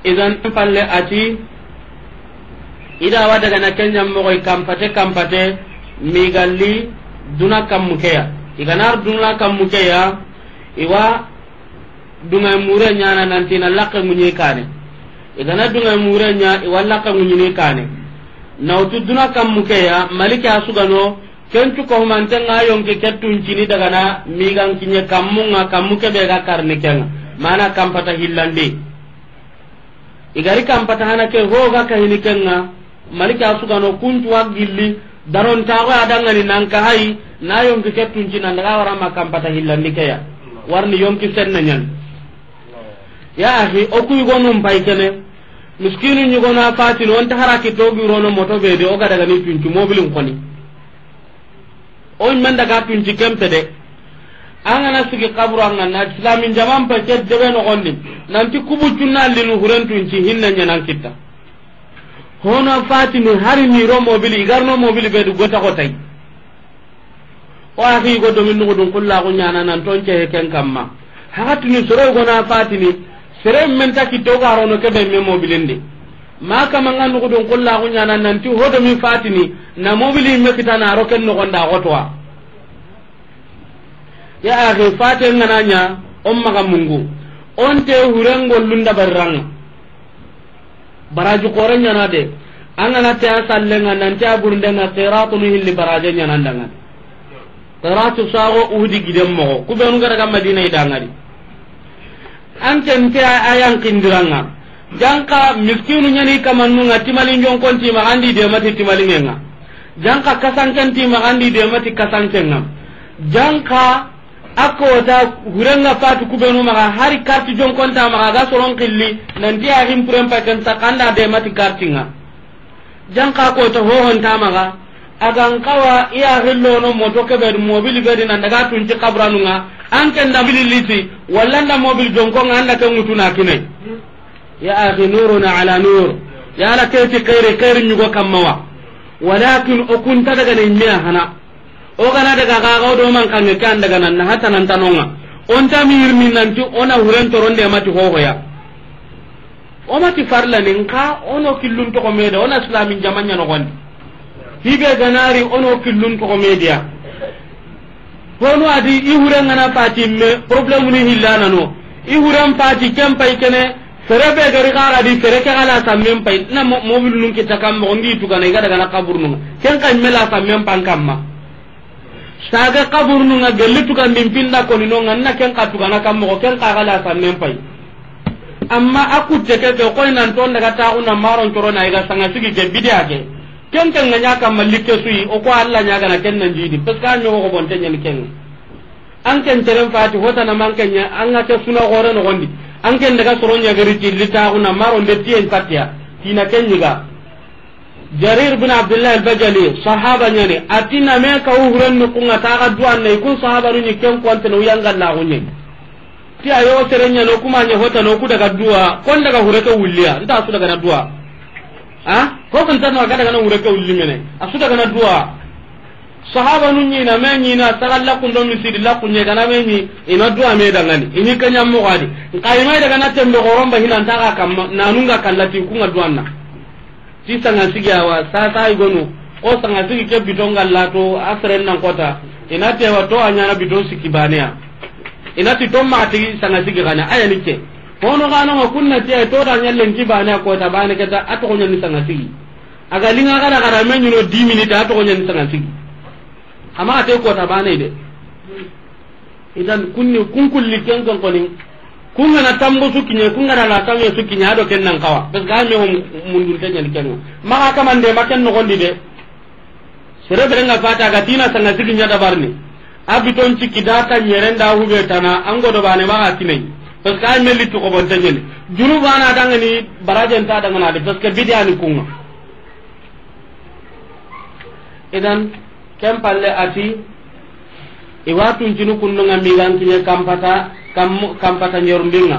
Idan palle a ti, i da wa daga na ke ɲa moxoy kampate kampate, migalli duna kammu ke ya. I ga na ri duna kammu ke ya, i wa dunŋa mure ɲana nanti na laxe ŋuɲe kane. I ga na dunŋa mure ɲa, i wa laxe ŋuɲini kane. Na wutu duna kammu ke ya, malike a su ga no, Ken cu ko humanten ŋa yonki ke tuncini daga na migan kiɲe kammun ŋa, kammu ke be ga karni ken ŋa. Mana kampata hillandi. I ga ri kampata hana ke ho ga kahini ken ŋa, malike a su ga no kuncu wa gilli, daron taxo a dangani nan ka hayi, na yonki ke tunci nan daga wara ma kampata hillandi ke ya. Warni yonki senne ɲan. Ya axi, o ku yugonun pay kene, miskinu ɲugona fatini, o nta hara ki togi rono moto be de, o ga daga ni tunci mobilin koni. O men daga tunci kempe de. An ga na sigi kaburu an ga na islamin jaman pa ke debe no gonni. Nanti kubu cunna linu huren tunci hinna ɲanan kitta. Hono fatini hari ni ro mobili, i ga ri no mobili be du gota gotay. O axi go domin nugudun kulla ku ɲana nan tonce he ken kamma. Haxatini soro gona fatini, sere men ta kitta o ga rono ke be me mobilindi. Ma kama nga nugudun kulla ku ɲana nanti hodo mi fatini, na mobili me kita na ro ken nogonda gotowa. Ya axi, fate ngana ɲa, o maxa mungu. O nte huren gollun da barranga. Baraji kore ɲana de. An ga na te a sallenga, nanti a burundenga, qiratu ni hilli baraje ɲana ndanga. Qiratu sago Uhudi giden moxo. Ku benu ga daga Madina i dangadi. An ken te a yan kindiranga. Janka miskinu ɲani kamannunga timalin jonkon ti maxa andi de mati timalingenga. Janka kasanken ti maxa andi de mati kasankenga. Janka a kota hurenga fatu ku benu maxa hari karti jonkonta maxa ga soron killi nanti a himpuren pa ken sakanda de mati kartinga. Janka kota hohonta maxa, a gan kawa i ya hillono moto kebe mobili be di nan daga tunci kaburanunga, an ken da mobili liti, walla nda mobili jonkonga an da ken ŋutuna kine. Ya axi, nuruna ala nur. Ya la keti khairi, khairi ɲugo kammawa. Walakin o kunta daga ne ɲa hana. O gana daga ga ga o do man kange kan daga nan na hata nan tanonga. On ta mi yirmi nanti o na huren toronde mati hohoya. O mati farla ni nka o no killun toxo mede, o na islamin jaman ɲa nogondi. Hibe ganari o no killun toxo media. Hono adi i huren ngana fati me problème ni hillana no. I huren fati ken pay kene, fere be gari xara di fere ke xala sammen pay. Na mo-, mobil nun kita kam mo ngi tugana i ga daga na kaburnu. Ken kan mela sammen pan kamma. Saga kaburnu nga gelli tugandin pinda koni no nga na ken ka tugana kam mo ken ka xala sammen pay. Amma a kutte ke ke koy nan ton daga taxu na maron coro na i ga sanga sigi ke bidiya ke. Ken ken nga ɲa kamma likke suyi, o ko Alla ɲa gana ken nan jidi, parce que an ɲogo ko bonte ɲani ken. An ken teren fati hota na man ken ɲa, an ga ke suna gore no gondi. An ken daga soro ɲa gari ti li taxu na maron de tiyen patiya. Tina ken ɲiga. Jarir bin Abdullah al-Bajali, sahaba ɲani, a ti na me ka huren nu kunga taga duwan ne, kun sahaba nu ɲi ken konte no yanga la gunye. Ti ayo tere ɲa no kuma ɲa hota no ku daga duwa, kon daga hure ke wulliya, nta su daga na duwa. Ha? Ko kan tan no ga daga na hure ke wulli mene. A su daga na duwa. Sahaba nu ɲi na me ɲi na saga la kun do misidi la kun ɲe kana me ɲi, i na duwa me dangani. I ɲi ka ɲa mo gadi. Nka i ma daga na tembe goron ba hinan ta ga kam nanunga kallati kunga duwanna. Ti sanga sigi awa, sasa i gonu, ko sanga sigi ke biton galla to, a seren nan kota, i na tewa to a ɲana biton siki baneya. I na ti to ma tigi sanga sigi gana, aya ni ke. Hono gano ma kunna ti ay to da ɲallen ki baneya kota, bane keta, a to ɲani sanga sigi. A ga linga gara gara me ɲuno dix minutes, a to ɲani sanga sigi. Ama ate kota bane de. Idan kunni kun kulli ken ken koni. Kun ga na tambo su kiɲe, kun ga na la tambo su kiɲe, a do ken nan kawa. Parce que a me hom mundun te ɲani ken. Maxa kamande ma ken noxondi de. Sere bere nga fata ga tina sanga sigi ɲa dabarni. A biton ciki da ta ɲeren da hube tana, an godo bane maxa kinai. Parce que a me litu ko bon te ɲani. Juru bana dangani barajen ta dangana de, parce que bidiya ni kunga. Idan, ken palle ati, i wa tuncinu kundunga migan kiɲe kampata, kam-, kampata ɲorundinga.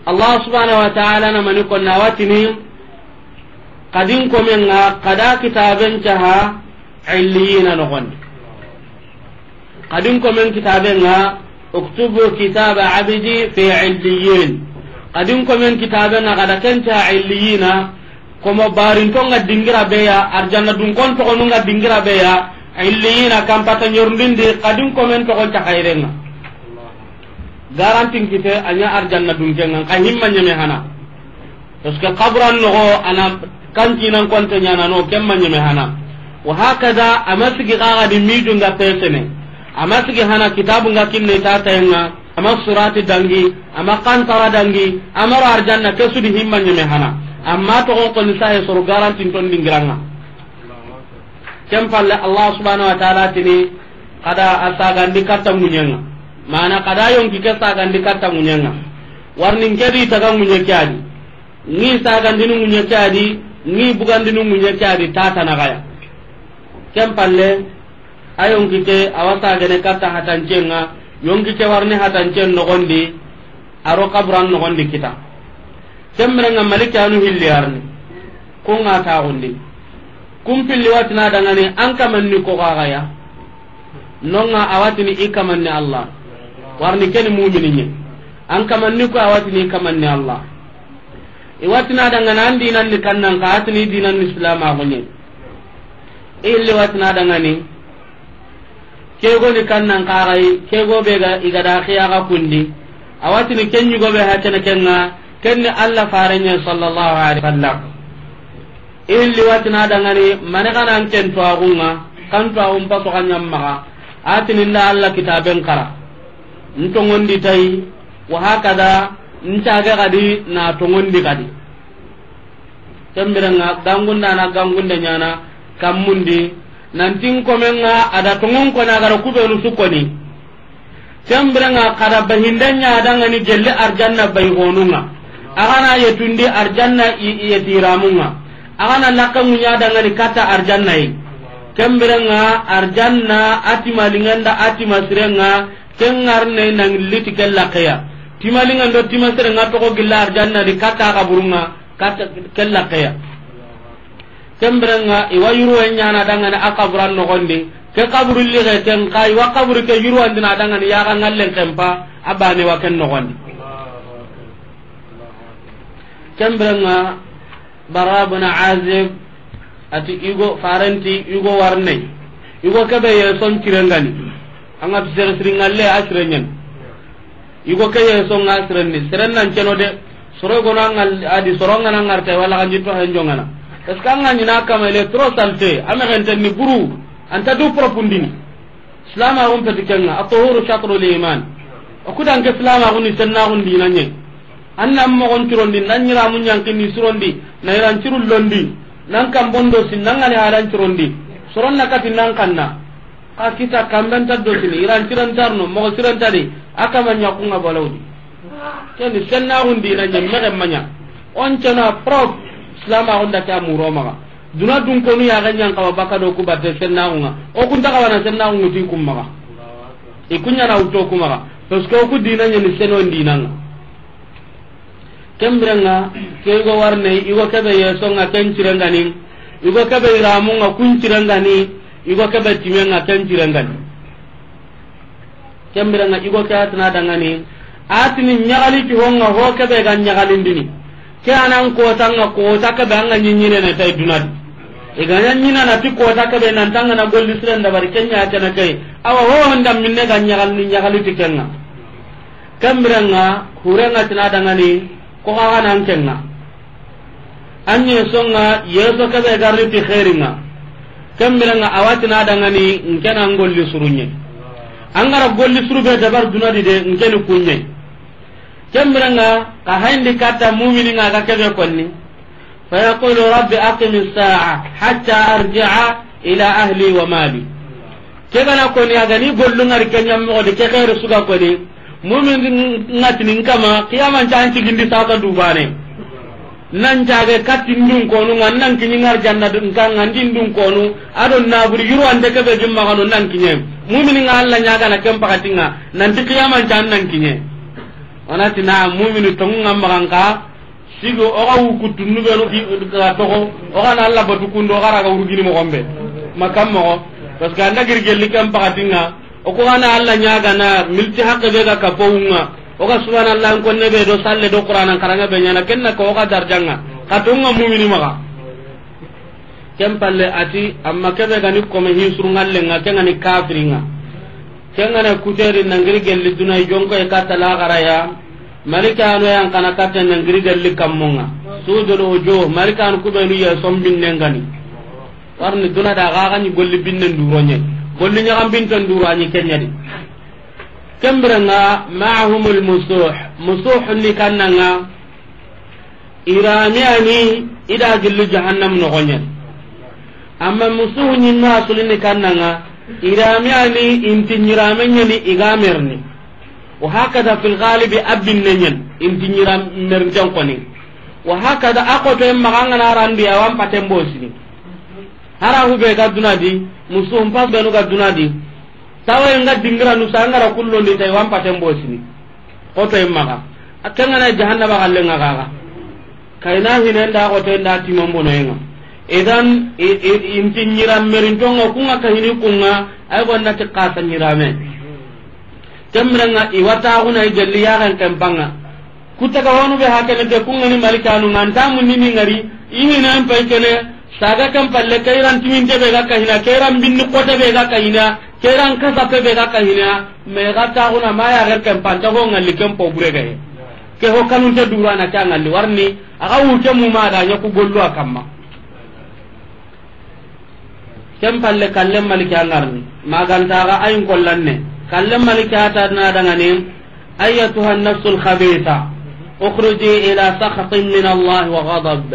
Allah subhanahu wa ta'ala na mani konna watini, kadin komenga, kada kitaben caha, illiyina nogondi. Kadin komen kitaben nga, uktubu kitaba abdi fi illiyin. Kadin komen kitaben nga, kada kenta illiyina, komo barinto nga dingira beya, arjanna dunkon toxonu nga dingira beya, illiyina kampata ɲorundindi, kadin komen toxon cakairenga. Garantin kite, a ɲa arjanna dunkenga, ka himma ɲeme hana. Parce que kaburan noxo ana kantinan konte ɲanano, kemma ɲeme hana. Wa hakada, ama sigi xaxa di miju nga pesene. Ama sigi hana kitabu nga kinne ta tayenga. Ama surati dangi, ama kantara dangi, ama ro arjanna, kesu di himma ɲeme hana. Amma toxon koni sahe soro garantin ton dingiranga. Ken palle Allah subhanahu wa ta'ala tini, kada a sagandi katta ŋuɲenga. Mana kada yonki ke sagandi katta ŋuɲenga. Warni nke di taga ŋuɲe ke adi. Ngi sagandini ŋuɲe ke adi, ngi bugandini ŋuɲe ke adi, tata na gaya. Ken palle, a yonki ke, awa sagene katta hatancenga, yonki ke warni hatancen nogondi, aro kaburan nogondi kita. Kemrenga malikanu hilli arni. Kunga taxundi. Kumpilli watina dangani an kamanni ko gagaya. Nonga awatini i kamanni Allah. Warni keni mumini nye. An kamanni ko awatini i kamanni Allah. I watina dangani an dinan ni kannan ka atini dinan ni Islam a gonye. Illi watina dangani. Kego ni kannan kaxay, kego be ga, i ga da xiya ga kundi. Awatini ken ɲugo be ha kene kenga, ken ni Allah farenye sallallahu alaihi wasallam. Illi watina dangani, mane kana an ken tuwaxunga, kan tuwaxun paso xa ɲammaxa, atini nda Allah kitaben kara. Ntongondi tayi, wa hakada, ntage gadi, na tongondi gadi. Kembirenga gangunda na gangunde ɲana kammundi nantin komenga ada tongon kona gara kubenu sukoni. Kembirenga kada bahinde ɲa dangani gelli arjanna bay honunga. Agana yetundi arjanna i, i yetiramunga. Agana lakka munya dangani kata arjanna yi. Kembirenga arjanna atima linganda atima sirenga kengarne nang liti kella keya. Tima lingando tima sirenga toko gilla arjanna di kata kaburunga. Kata kella keya. Kembirenga iwa yuru ɲana dangani a kaburan nogondi. Ke kaburu lige ken ka iwa kaburu ke yuru andina dangani ya ga ngallen kempa abane wa ken nogondi. Kembirenga Bara bin Azib ati igo farenti igo warne. Igo kebe ye son kirengani. Anga tu sere siringalle a kirenyen. Igo ke ye so nga sirenni, seren nan ceno de. Soro gono angal adi soro ngana ngarte wala ganji to henjo ngana. Est-ce que anga nyina kama il est trop saleté, ame genten ni buru, anta du propundini. Islam a gon peti kenga, at-tuhuru shatrul iman. O kudan ke Islam a gon ni senna gon dinanye. Anna mo gon turondi, nan nyira mun yankini surondi, na iran cirul londi, nan kan bondo sin nan ngani halan turondi. Soron na kati nan kanna. Xa kita kamben ta dotini, iran cirantarno, moxo sirantadi, a kama ɲakunga balawdi. Keni sennaxundi na ɲe mexe maɲa. On cena prop, silamaxunda ke a muro maxa. Duna dunkonu yaxe ɲan xawa baka do ku batte sennaxunga. O kunta xawana sennaxungu ti kun maxa. I kuɲana wutto ku maxa. Parce que o ku dina ɲeni senon dinanga. Kembirenga, ke igo warne, igo kebe yesonga ken cirengani, igo kebe iramunga kun cirengani, igo kebe timenga ken cirengani. Kembirenga, igo ke atina dangani, atini ɲagali ti honga ho kebe ga ɲagalindini. Ke anan kotanga kota kebe anga ɲiɲine ne tay dunadi. Iganya ɲina na ti kota kebe nan tanga na golli siren dabari kenya kena kay. Awa ho honda minne ga ɲagalini ɲagali ti kenga. Kembirenga, hurenga tina dangani, ko kaga nan kenga. Anye songa, yeso kebe garni ti khairinga. Ken biren ŋa a wa ti na dangani, n ke na n golli suru ɲa. An ga ra golli suru be dabari duna di de, n ke ni ku ɲa. Ken biren ŋa xa hayindi katta mumini ŋa ga ke be konni. Fa yaqulu rabbi aqimi ssa'a hatta arji'a ila ahli wa mali. Ke ga na koni a ga ni gollu ŋari ke ɲa moxo di, ke xeeri su ga koni. Mumini ŋa ti ni n kama, qiyaman ta an cigindi sasa du bane. Nan jage katti ndun konu ŋa, nan kiɲi ŋari janna dun kan ŋa, ndi ndun konu, a do naburi yuru ande ke be gimma kanu nan kiɲe. Mumini ŋa Alla ɲaagana ken pakati ŋa, nan ti qiyaman ta an nan kiɲe. O na ti na mumini tonŋu ŋa maxa n ka, sigi o ga wu kuttunnu be no ki ga toxo, o ga na Alla batu kundo, o ga ra ga wurugini moxo be. Ma kan moxo, parce que anda giri gelli ken pakati ŋa, o ko ga na Alla ɲaagana milti haqqe be ga kapo wu ŋa, o ga subhanallah n konne be do salle do Qur'anan karanŋe be ɲaana, ken na ko o ga darja ŋa, xa tonŋa mumini maxa. Ken palle a ti, amma ke be ga ni kome hi suru ŋalle ŋa, ke ga ni kafiri ŋa. Ken ga na kuteri na giri gelli duna i jonko e katta laxara ya. Malikanu yan xa na katta na giri gelli kammo ŋa. Sudul wujuh, malikanu ku be nu ya sombinne n ga ni. Warni duna da ga ga ni golli binne nduro ɲa. Golli ɲaxan binten nduro a ɲi ke ɲa di. Ken biren ŋa ma'ahumul musuh. Musuh ni kanna ŋa. I rame ya ni i da gilli jahannam noxo ɲa. Amma musuhu ɲimme a sulini kanna ŋa, i rame ya ni i nti ɲi rame ɲa ni i ga merni. Wa hakada fil galibi a binne ɲa ni i nti ɲi rame merinten koni. Wa hakada a xoto en maxa an ga na randi a wa n paten bosini. Hara hu be ga duna di, musuhu n pas be nu ga duna di. Tawa en ga dingira nu sa an ga ra kullondi ta i wa n paten bosini. Xoto en maxa. A ken ga na jahannaba xalle ŋa ga ga. Kayna hinen da xoto en da timon bono en ŋa. Idan i, i, i nti ɲi rame merinton ŋa ku ŋa ka hini ku ŋa, ay gonda ti xasa ɲi rame. Ken biren ŋa i wa taxuna i gelli yaxen ken pa ŋa. Ku taga honu be hakene ke ku ŋa ni malikanu ŋa, nta munni ni ŋari, i hina en pay kene, saga ken palle, kayran timinte be ga kahina, kayran binni xote be ga kahina, kayran kasape be ga kahina, me ga taxuna ma yaxen ken pa nta ho ŋalli ken po bure ga he. Ke ho kanunte durana ke a ŋalli warni, a ga wurte muma da ɲa ku gollu a kamma. Ken palle kallen maliki a ŋarni. Magantaxa ayin kollanne. Kallen maliki a ta na dangani. Ayyatuha nafsul khabitha, ukhruji ila sakhatin min Allah wa ghadab.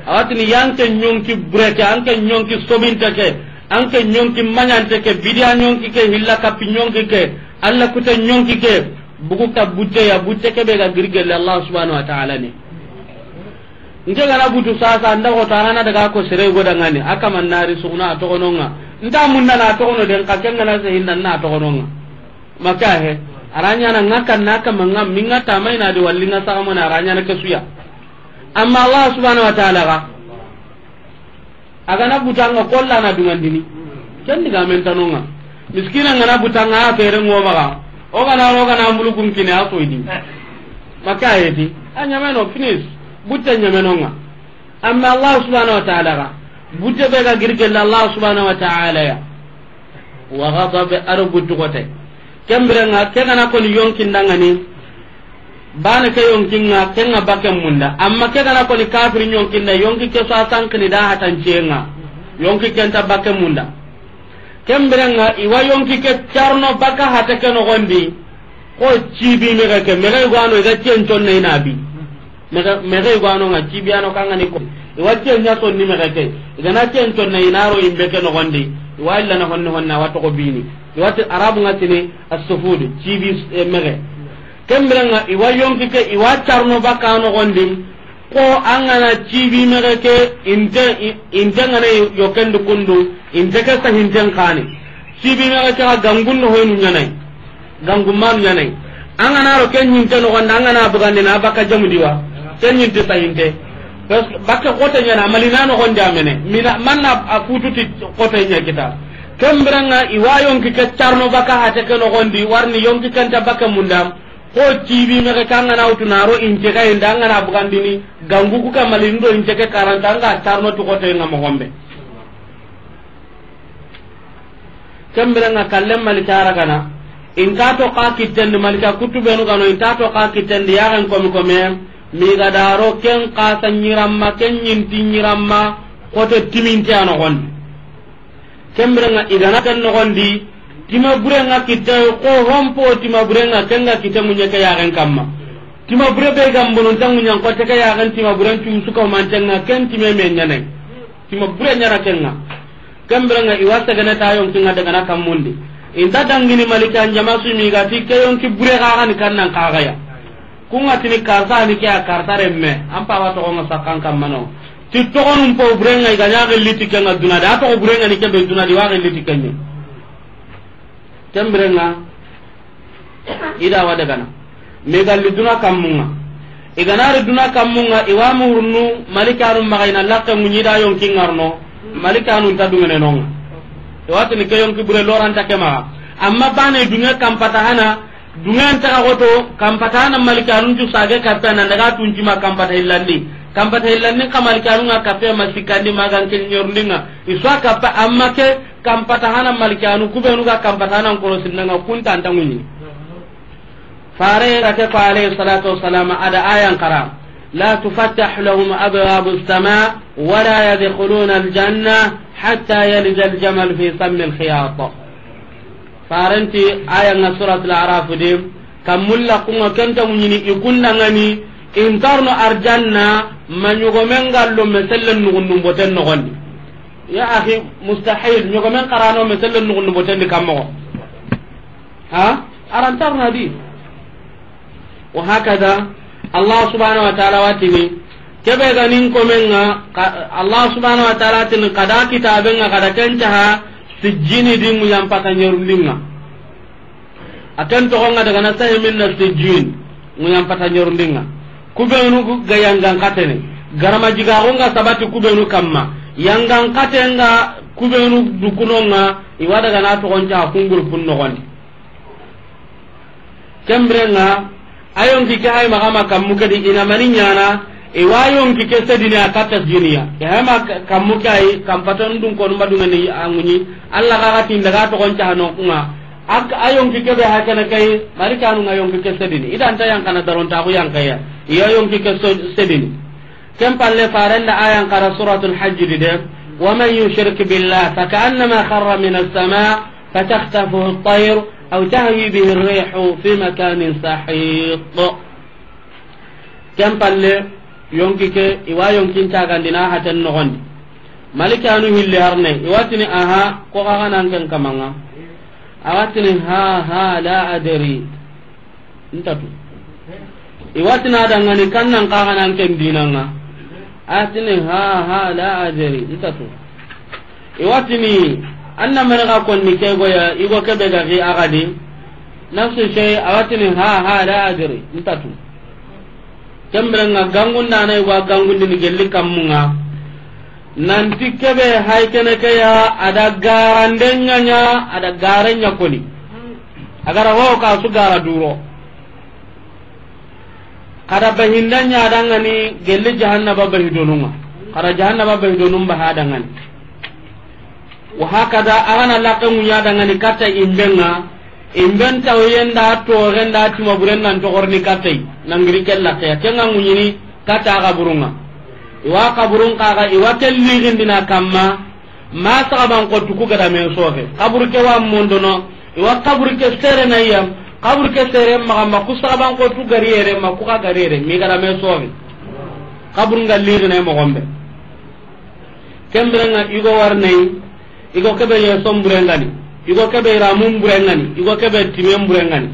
A wa tini yanke ɲonki bureke, anke ɲonki sobinte ke, anke ɲonki maɲante ke, bidiya ɲonki ke, hilla kappi ɲonki ke, Alla kute ɲonki ke, bugu ka butte ya, butte ke be ga giri gelle Allah subhanahu wa ta'ala ni. Nke gana butu sasa, nda ko tarana daga ko sere go dangani, aka manari suguna a togononga. Nda munna na togono den ka kenga na se hinna na togononga. Maka he, aranya na ngaka na ka manga minga tamai na di wallinga saka mona aranya na kesuya. Amma Allah subhanahu wa ta'ala ga, a gana butanga kolla na dungandini. Ken diga men tanonga. Miskina ngana butanga a fere ngo maga. O gana ro gana mbulu kun kine a soydi. Maka heti. A nyameno finish. Butte nyamenonga. Amma Allah subhanahu wa ta'ala ga. Butte be ga girgella Allah subhanahu wa ta'ala ya. Wa ghadab, aro buttu kote. Kembirenga, ke gana koni yonkin dangani. Bana ke yonkinga, kenga bakke munda. Amma ke gana koni kafiri yonkinda, yonki ke so a sankini da hatanciyenga. Yonki kenta bakke munda. Kembirenga, iwa yonki ke carno baka hata ke nogondi. Ko cibi mege ke, mege gano iga cen conne inabi. Mege, mege gano nga cibi ano kangani ko. Iwa cen nya sonni mege ke. Igana cen conne inaro imbe ke nogondi. Iwa illa na honne honne awa toko bini. Iwa ti arabu nga tini as-sufud, cibi, eh, mege. Kembirenga, iwa yonki ke, iwa carno baka nogondi. Ko angana cibi mege ke, inte, i-, inte ngana yokendi kundu, inte ke sahinten kani. Cibi mege ke ga gangun no hoynu nyanai. Gangun manu nyanai. Angana ro ken nyinte nogondi, angana bugandi na baka jamudiwa. Ken nyinte sahinte. Parce que baka kote nyana, malina nogondi amene. Mina, manna a futu ti kote nya kita. Kembirenga, iwa yonki ke carno baka hata ke nogondi, warni yonki kenta baka munda. Ko cibi mege kangana wutu naro inte ka inda angana bugandini gangu ku kamali ndo inte ke karanta anga carno tu kote nga mogombe. Kembirenga kallen maliki aragana. Inta to ka kitten di malika kutubenu gano inta to ka kitten di yagen komi kome. Miga daro ken kasa nyiramma ken nyinti nyiramma kote timinte anogondi. Ken biren ŋa i ga na ken noxon di, tima buren ŋa kitte, xo hompo tima buren ŋa ken ga kitte ŋuɲe ke yaxen kamma. Tima bure be ga n bononta ŋuɲan xote ke yaxen tima buren cu su ka humanten ŋa, ken time me ɲa na yi. Tima bure ɲa na ken ŋa. Ken biren ŋa i wa segene ta yonkin ŋa daga na kammun di. I nta dangini Malikan jama su mi ga ti ke yonki bure xa ga ni kannan xa ga ya. Ku ŋa tini karta ni ke ya karta renme. An pa wa toxon ŋa sakkan kamma no. Ti toxonun po buren ŋa i ga ɲa xilli ti ken ŋa duna di. A toxo buren ŋa ni ke be duna di wa xilli ti ken ɲi. Ken biren ŋa i da wa daga na. Mi ga li duna kammun ŋa. I ga na ri duna kammun ŋa, i wa murunu Malikanu maxa i na laxe ŋuɲi da yonki ŋarno. Malikanu nta dungene no ŋa. I wa tini ke yonki bure loranta ke maxa. Amma bane dunge kampata hana, dunge nta ga xoto, kampata hana Malikanun cu sage kappe nan daga tunci ma kampata hillandi. Kampata hillandi ka Malikanu ŋa kappe ma sikandi ma gan ke ɲorndi ŋa. I so a kappe amma ke kampata hana Malikanu, ku benu ga kampata hana korosinda ŋa, kun ta nta ŋuɲi. Fare ra ke ko alayhi salatu wassalam, a da ayan xara: لا تفتح لهم أبواب السماء ولا يدخلون الجنة حتى يلج الجمل في سم الخياط. Faren ti ayan ŋa Suratul Araf di, kammun laxun ŋa ken nta ŋuɲini i kunda ŋa ni, i nta ro no arjanna ma ɲogomen ga lo me sellen nuxundun boten noxon di. Ya axi, mustahil, ɲogomen xa ra no me sellen nuxundun boten di kammoxo. Ha? A ra nta ro na di. Wa hakada, Allah subhanahu wa ta'ala wa tini, ke be ga ni n komen ŋa, ka-, Allah subhanahu wa ta'ala tini, xa da kitaben ŋa, xa da ken caha, sijjini di ŋuɲan pata ɲerundi ŋa. A ken toxon ŋa daga na sahi min na sijjin, ŋuɲan pata ɲerundi ŋa. Ku benu ga yangan xatene, garama jigaxun ga sabati ku benu kamma, yangan xaten ga ku benu dukunon ŋa, i wa daga na toxon caha kun gurupun noxon di. Ken biren ŋa, a yonki ke hay maxa ma kammu ke di i na mani ɲana, i wa yonki ke sedini a katta sijjini ya. I hay ma ka-, kammu ke ay, kampatan dun konu ma dungeni a ŋuɲi, Allah ga ga ti n daga toxon caha no ku ŋa. Ak-, a yonki ke be hakana kay, Malikanu ŋa yonki ke sedini. I da nta yankana darontaxu yankaya. I ya yonki ke so-, sedini. Ken palle faren da ayan xara Suratul Hajj di de: ومن يشرك بالله فكأنما خر من السماء فتخطفه الطير أو تهوي به الريح في مكان سحيق. Ken palle yonki ke, i wa yonkin cagandina haten noxon di. Malikanu hilli harne, i wa tini, aha, ko xa ga na n ken kaman ŋa. A wa tini, ha, ha, la adri. Nta tu. I wa tini a da ŋa ni kannan xa ga na n ken dinan ŋa. A tini, ha, ha, la adri. Nta tu. I wa tini, an na mene ga konni ke go ya, i go ke be ga xi a ga di. Nafsu shay, a wa tini, ha, ha, la adri. Nta tu. Ken biren ŋa gangundana i wa gangundini gelli kammun ŋa. Nanti ke be hay kene ke ya, a da garande ɲa ɲa, a da gare ɲa koni. A ga ra ho ka su gara duro. Xa da bahinda ɲa da ŋa ni gelli jahannaba bahidonun ŋa. Xa da jahannaba bahidonun baha da ŋa ni. Wa hakada, a ga na laxe ŋuɲa da ŋa ni katta imben ŋa, imben tawoyen da toxen da tima buren nan toxorni katta yi, nan giri ken laxe ya, ken ŋa ŋuɲini katta a xaburun ŋa. I wa xaburun xa ga, i wa ken lixindina kamma, ma saxaban xottu ku ga da me sofe. Xaburu ke wa mondono, i wa xaburu ke sere na yam, xaburu ke sere maxa ma, ku saxaban xottu gari yere ma, ku xa gari yere, mi ga da me sofe. Xaburun ga lixine moxon be. Ken biren ŋa i go warne yi, i go ke be yeson buren ŋa ni, i go ke be ramun buren ŋa ni, i go ke be timen buren ŋa ni.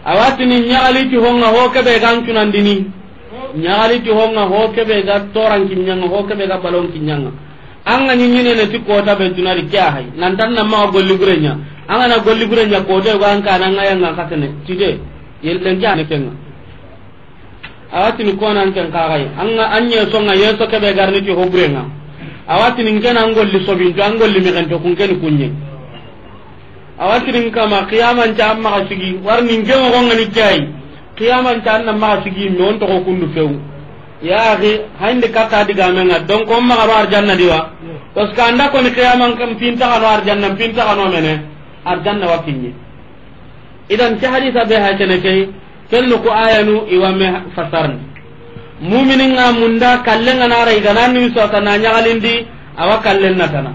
A wa tini ɲaxali ti ho ŋa ho ke be ga n cunandini. Ɲaxali ti ho ŋa ho ke be ga toran kiɲa ŋa, ho ke be ga balon kiɲa ŋa. An ga ɲi ɲinene ti kota be duna di ke ya hay. Nan tan na maxa golli bure ɲa. An ga na golli bure ɲa kota yogo an ka na ŋa yanga xatene. Tide. Yellen ke ane ken ŋa. A wa tini ko nan ken xa ga yi. An ga an yeso ŋa yeso ke be ga rini ti ho bure ŋa. A wa tini n ke na an golli sobinto, an golli mexento, kun ke ni kuɲe. A wa tini n kama, qiyaman ca an maxa sigi. Warni n ke moxo ŋa ni ke yi. Qiyaman ca an na maxa sigi, me on toxo kundu few. Ya axi, hayndi katta digamen ŋa. Donc, on maxa ro arjanna di wa. Parce que an da ko ni qiyaman kan pinta xa no arjanna, pinta xa no mene. Arjanna wa kiɲe. Idan, ke hadisa be ha kene ke, ken no ko ayanu i wa me fasarni. Muminin ŋa munda, kallen ŋa na ra i ga na ni so ta na ɲaxalindi, a wa kallen na tana.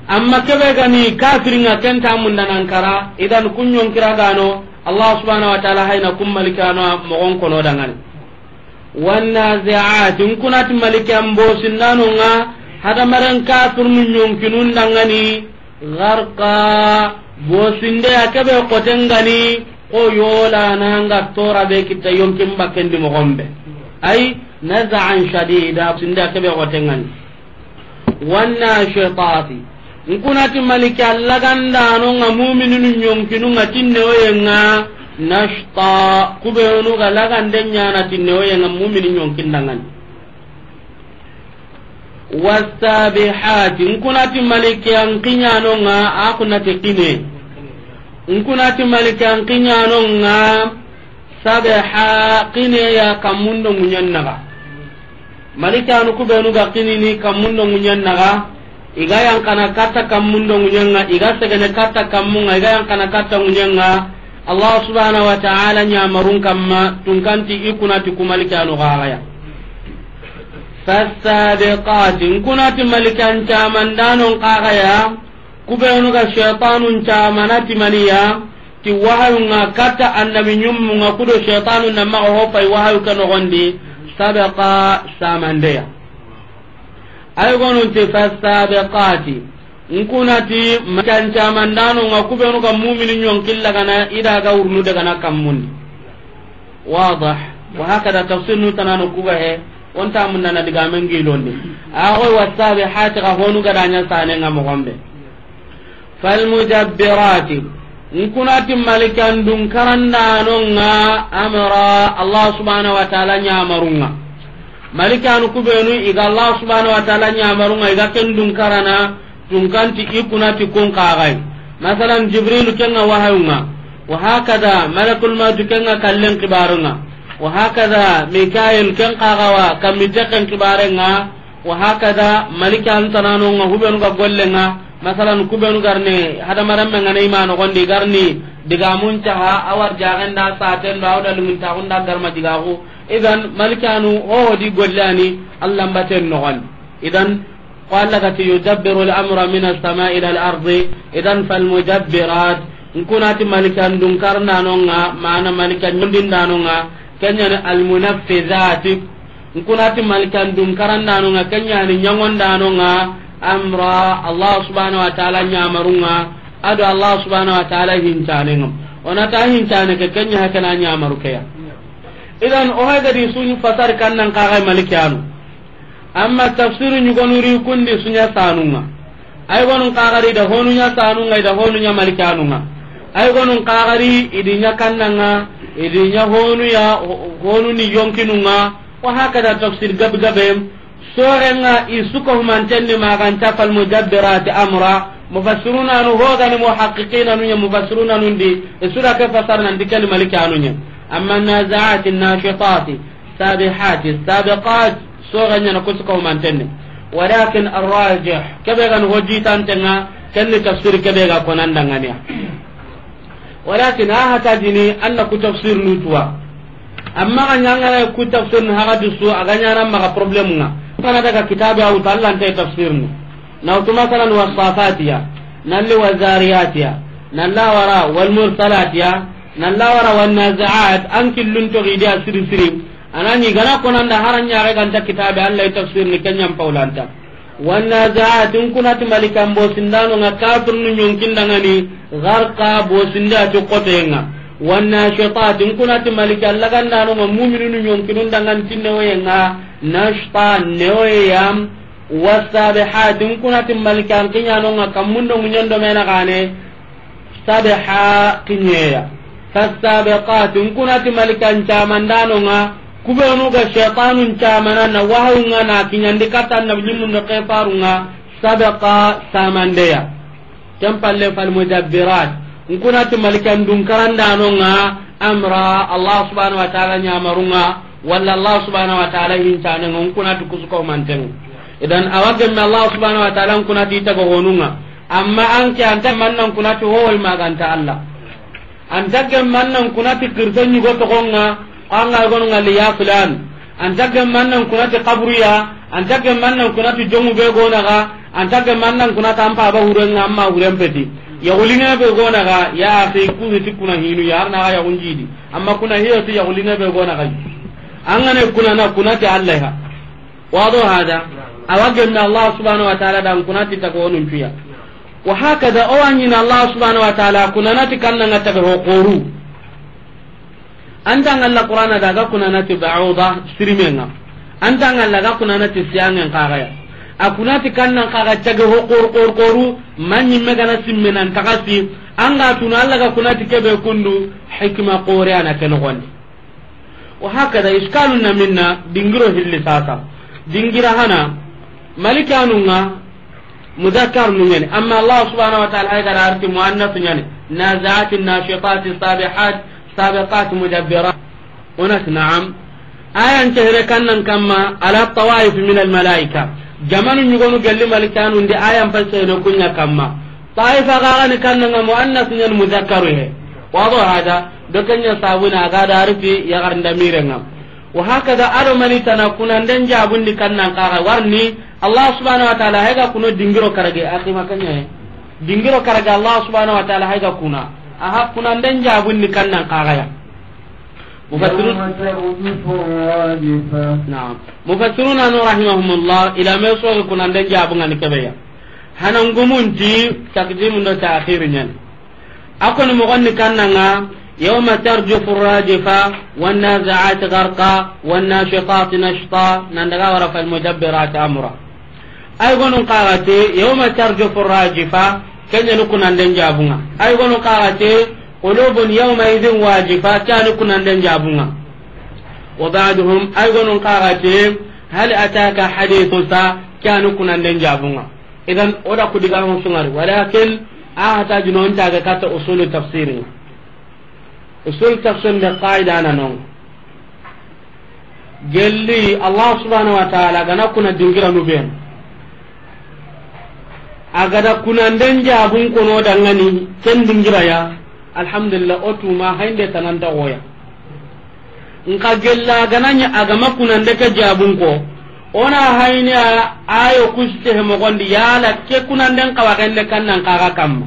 Amma kebe ga ni kafirin ŋa, ken ta munda nan kara, idan kun yonkira gano, Allah subhanahu wa ta'ala hayna kun malikanu mogon kono dangani. Wannazi'at, n kunati malikan bosindano ŋa, hadamaren kafirnu yonkinun dangani, gharqa, bosinde ya kebe kotengani, ko yola nanga tora be kita yonkin bakendi mogombe. Ay, naza'an shadida, bosinde ya kebe kotengani. Wannashitati. N kunati malika lagandano ŋa mumininu yonkinu ŋa tinne oye ŋa, nashta, kubenu ga lagande ɲana tinne oye ŋa mumini yonkin dangani. Wasabihati. N kunati malika n kiɲano ŋa, a kunati kine. N kunati malika n kiɲano ŋa, sabeha, kine ya kammundo ŋuɲen naga. Malikanu kubenu ga kinini kammundo ŋuɲen naga, i ga yankana katta kammundo ŋuɲen ŋa, i ga segene katta kammun ŋa, i ga yankana katta ŋuɲen ŋa. Allah subhanahu wa ta'ala ɲamarun kamma, tunkanti i kunati ku malikanu gagaya. Fasabiqati, n kunati malikan camandanon kagaya, kubenu ga shaytanun camana timaniya, ti wahayunga katta annabi ɲummunga kudo shaytanu na maga hopay wahayu ke nogondi, sabaqa, samandeya. Ay gonun ti fasabiqati, n kunati malikan camandanonga kubenu ga mumini ɲonkilla gana ida ga wurnu dagana kammundi. Wadah. Wa hakada tafsir nu tanano kuga he, onta munna na digamen gilondi. Ago wasabihati ga honu gadanya sane nga mogombe. Falmudabbirati. N kunati malikan dun karandano nga amra Allah subhanahu wa ta'ala ɲamarunga. Malikanu kubenu iga Allah subhanahu wa ta'ala ɲamarunga iga ken dun karana tunkanti i kunati kun kagai. Masalan, Jibril kenga wahayunga. Wa hakada, malakul mautu kenga kallen kibarunga. Wa hakada, Mikail ken kagawa, kamite ken kibarenga. Wa hakada, malika antananonga, hubenu ga gollenga. Masalan, kubenu garni, hadamarenme ngana ima nogondi garni, digamun caha, awar jagenda, satendo, awda lumuntaxunda garma digaxu. Idan, malikanu, hoho di gollani, Allah mbaten nogondi. Idan, Ko Allah ga ti, "Yudabbiru al-amra min as-sama'i ila al-ardi." Idan, fal mudabbirat. N kunati malikan dun karnanonga, mana malikan ɲondindanonga, kenyani al-munaffizati. N kunati malikan dun karandanonga, kenyani ɲaŋondanonga, amra, Allah subhanahu wa ta'ala ɲamarunga, ado Allah subhanahu wa ta'ala hincanenga. Onata hincane ke, kenya hakana ɲamaru keya. Idan, o hagadi sun fasar kannan kaga malikanu. Amma tafsiru ɲugonu ri kundi suɲa sanunga. Ay gonun kagari da honu ɲa sanunga, ida honu ɲa malikanunga. Ay gonun kagari idi ɲa kannanga, idi ɲa honu ya, ho-, honu ni yonkinunga. Wa hakada tafsir gabe gabe. Sorenga i suko humantenni maganta fal mudabbirati amra. Mufassiruna nu hogani muhaqqiqina nu ɲa mufassiruna nundi. Isura ke fasar nan dikani malikanu ɲa. Amma nazaati nashitati. Sabihati, sabiqat, soga ɲana kusu kaw mantenne. Walakin arrajih, kebe gan hojitantenga, kenni tafsir kebe ga konandanganiya. Walakin a hata jini anna ku tafsir nutuwa. Amma ga ɲangana ku tafsir ni haga dusu, a ga ɲana maga problem nga. Kana daga kitabe awuta Allah nte tafsir ni. Na wutu masalan wasafatiya, nalli wazariyatiya, nalla wara walmursalatiya, nalla wara wannazaat, an killun to gidiya siri siri. Anani gana konanda haran ɲaxe ganta kitabe Allah tafsir ni kenyan paulanta. Wannazaat, n kunati malikan bosindanonga kafirnu ɲonkindangani, gharqa bosinda ti kotenga. Wannashitat, n kunati malikan lagandanonga muminunu ɲonkinun dangan tinne oyenga, nashta neoyeyam. Wasabihati, n kunati malikan kiɲanonga kammundo ŋuɲendo mena gane, sabiha kiɲeya. Fasabiqati, n kunati malikan camandanonga, kubenu ga shaytanun camana na wahayunga na kiɲandi kata na ɲimmundo kefarunga, sabiqa samandeya. Ken palle fal mudabbirat. N kunati malikan dun karandanonga amra Allah subhanahu wa ta'ala ɲamarunga, walla Allah subhanahu wa ta'ala hincanenga, n kunati kusuko mantenga. Idan awa gemme Allah subhanahu wa ta'ala n kunati itaga honunga. Amma anke anta mannan kunati hoy maganta Allah. Anta gemmannan kunati kirten ɲugo togonga, anga gonunga li ya fulan. Anta gemmannan kunati kaburuya, An ta gemma nan kuna ti jomu be gona ga, an ta gemma nan kuna ta an paba huren ŋa, amma huren peti. Yaxulinŋe be gona ga, ya axi, ku hiti kuna hinu, ya arna ga yaxun jidi. Amma kuna hiyo ti yaxulinŋe be gona ga. An ga na kuna na kuna ti Allah ha. Wado hada. Awa gemma Allah subhanahu wa ta'ala dan kuna ti ta ko nun tuya. Wa hakada, o wa ɲi na Allah subhanahu wa ta'ala kuna na ti kanna ŋa ta ho xoru. An ta ŋalla Qur'ana da ga kuna na ti ba'uda sirimenŋa. An ta ŋalla ga kuna na ti siyangen kaga ya. A kuna ti kannan kaga cage ho xor xor xoru, manyi megana simme nan tagasi. An ga tuna Allah ga kuna ti kebe kundu, hikma xore ana ke noxondi. Wa hakada iskalun na minna, dingiro hilli sasa. Dingira hana, malikanu ŋa, muzakkar nu ɲani. Amma Allah subhanahu wa ta'ala ay gara arti muannas ɲani. Nazi'ati, nashitati, sabihat, sabiqat, mudabbirat. Onat na'am. Ayan cehre kannan kamma ala tawaif min al malaika. Jamanu ɲugonu gelli malikanu ndi ayan pa cehre kunya kamma. Taifa gagani kannanga muannas ɲani muzakkaru he. Wado hada. Do kenya sabuna aga da arti ya garnda mirenga. Wa hakada ado mani tana kunanden jabundi kannan kaga warni Allah subhanahu wa ta'ala hega kuno dingiro karage akhi makanya he. Dingiro karage Allah subhanahu wa ta'ala hega kuna. Aha kunanden jabundi kannan kaga ya. Mufassirun. يوم ترجف الراجفة. Naam. Mufassiruna no rahimahumullah ila me so kunanden jabunga ni kebeya. Hanangumunti takdimu ndo ta'khir ɲani. A koni moxon ni kannanga, yawma tarjufu rajifa, wannazi'ati gharqa, wannashitati nashta, nan daga wara falmudabbirati amra. Ay gonun kaxati, yawma tarjufu rajifa, kenya ni kunanden jabunga. Ay gonun kaxati, qulubun yawma idhin wajifa, kya ni kunanden jabunga. Wa ba'duhum, ay gonun kaxati, hal ataka hadithu sa, kya ni kunanden jabunga. Idan, o da ku diga mo sungari, walakin a hata jinon ta ga kata usulu tafsirin. Usul tafsir de qaida na non. Gelli Allah subhanahu wa ta'ala gana kuna dingira nu ben. A gada kunanden jabun kono dangani ken dingira ya. Alhamdulillah, o tuma hainde tananta goya. Nka gella gananya agama kunande ke jabun ko. Ona hayni a-, ayo kuste he mogondi yala ke kunanden kawa gende kannan kaga kamma.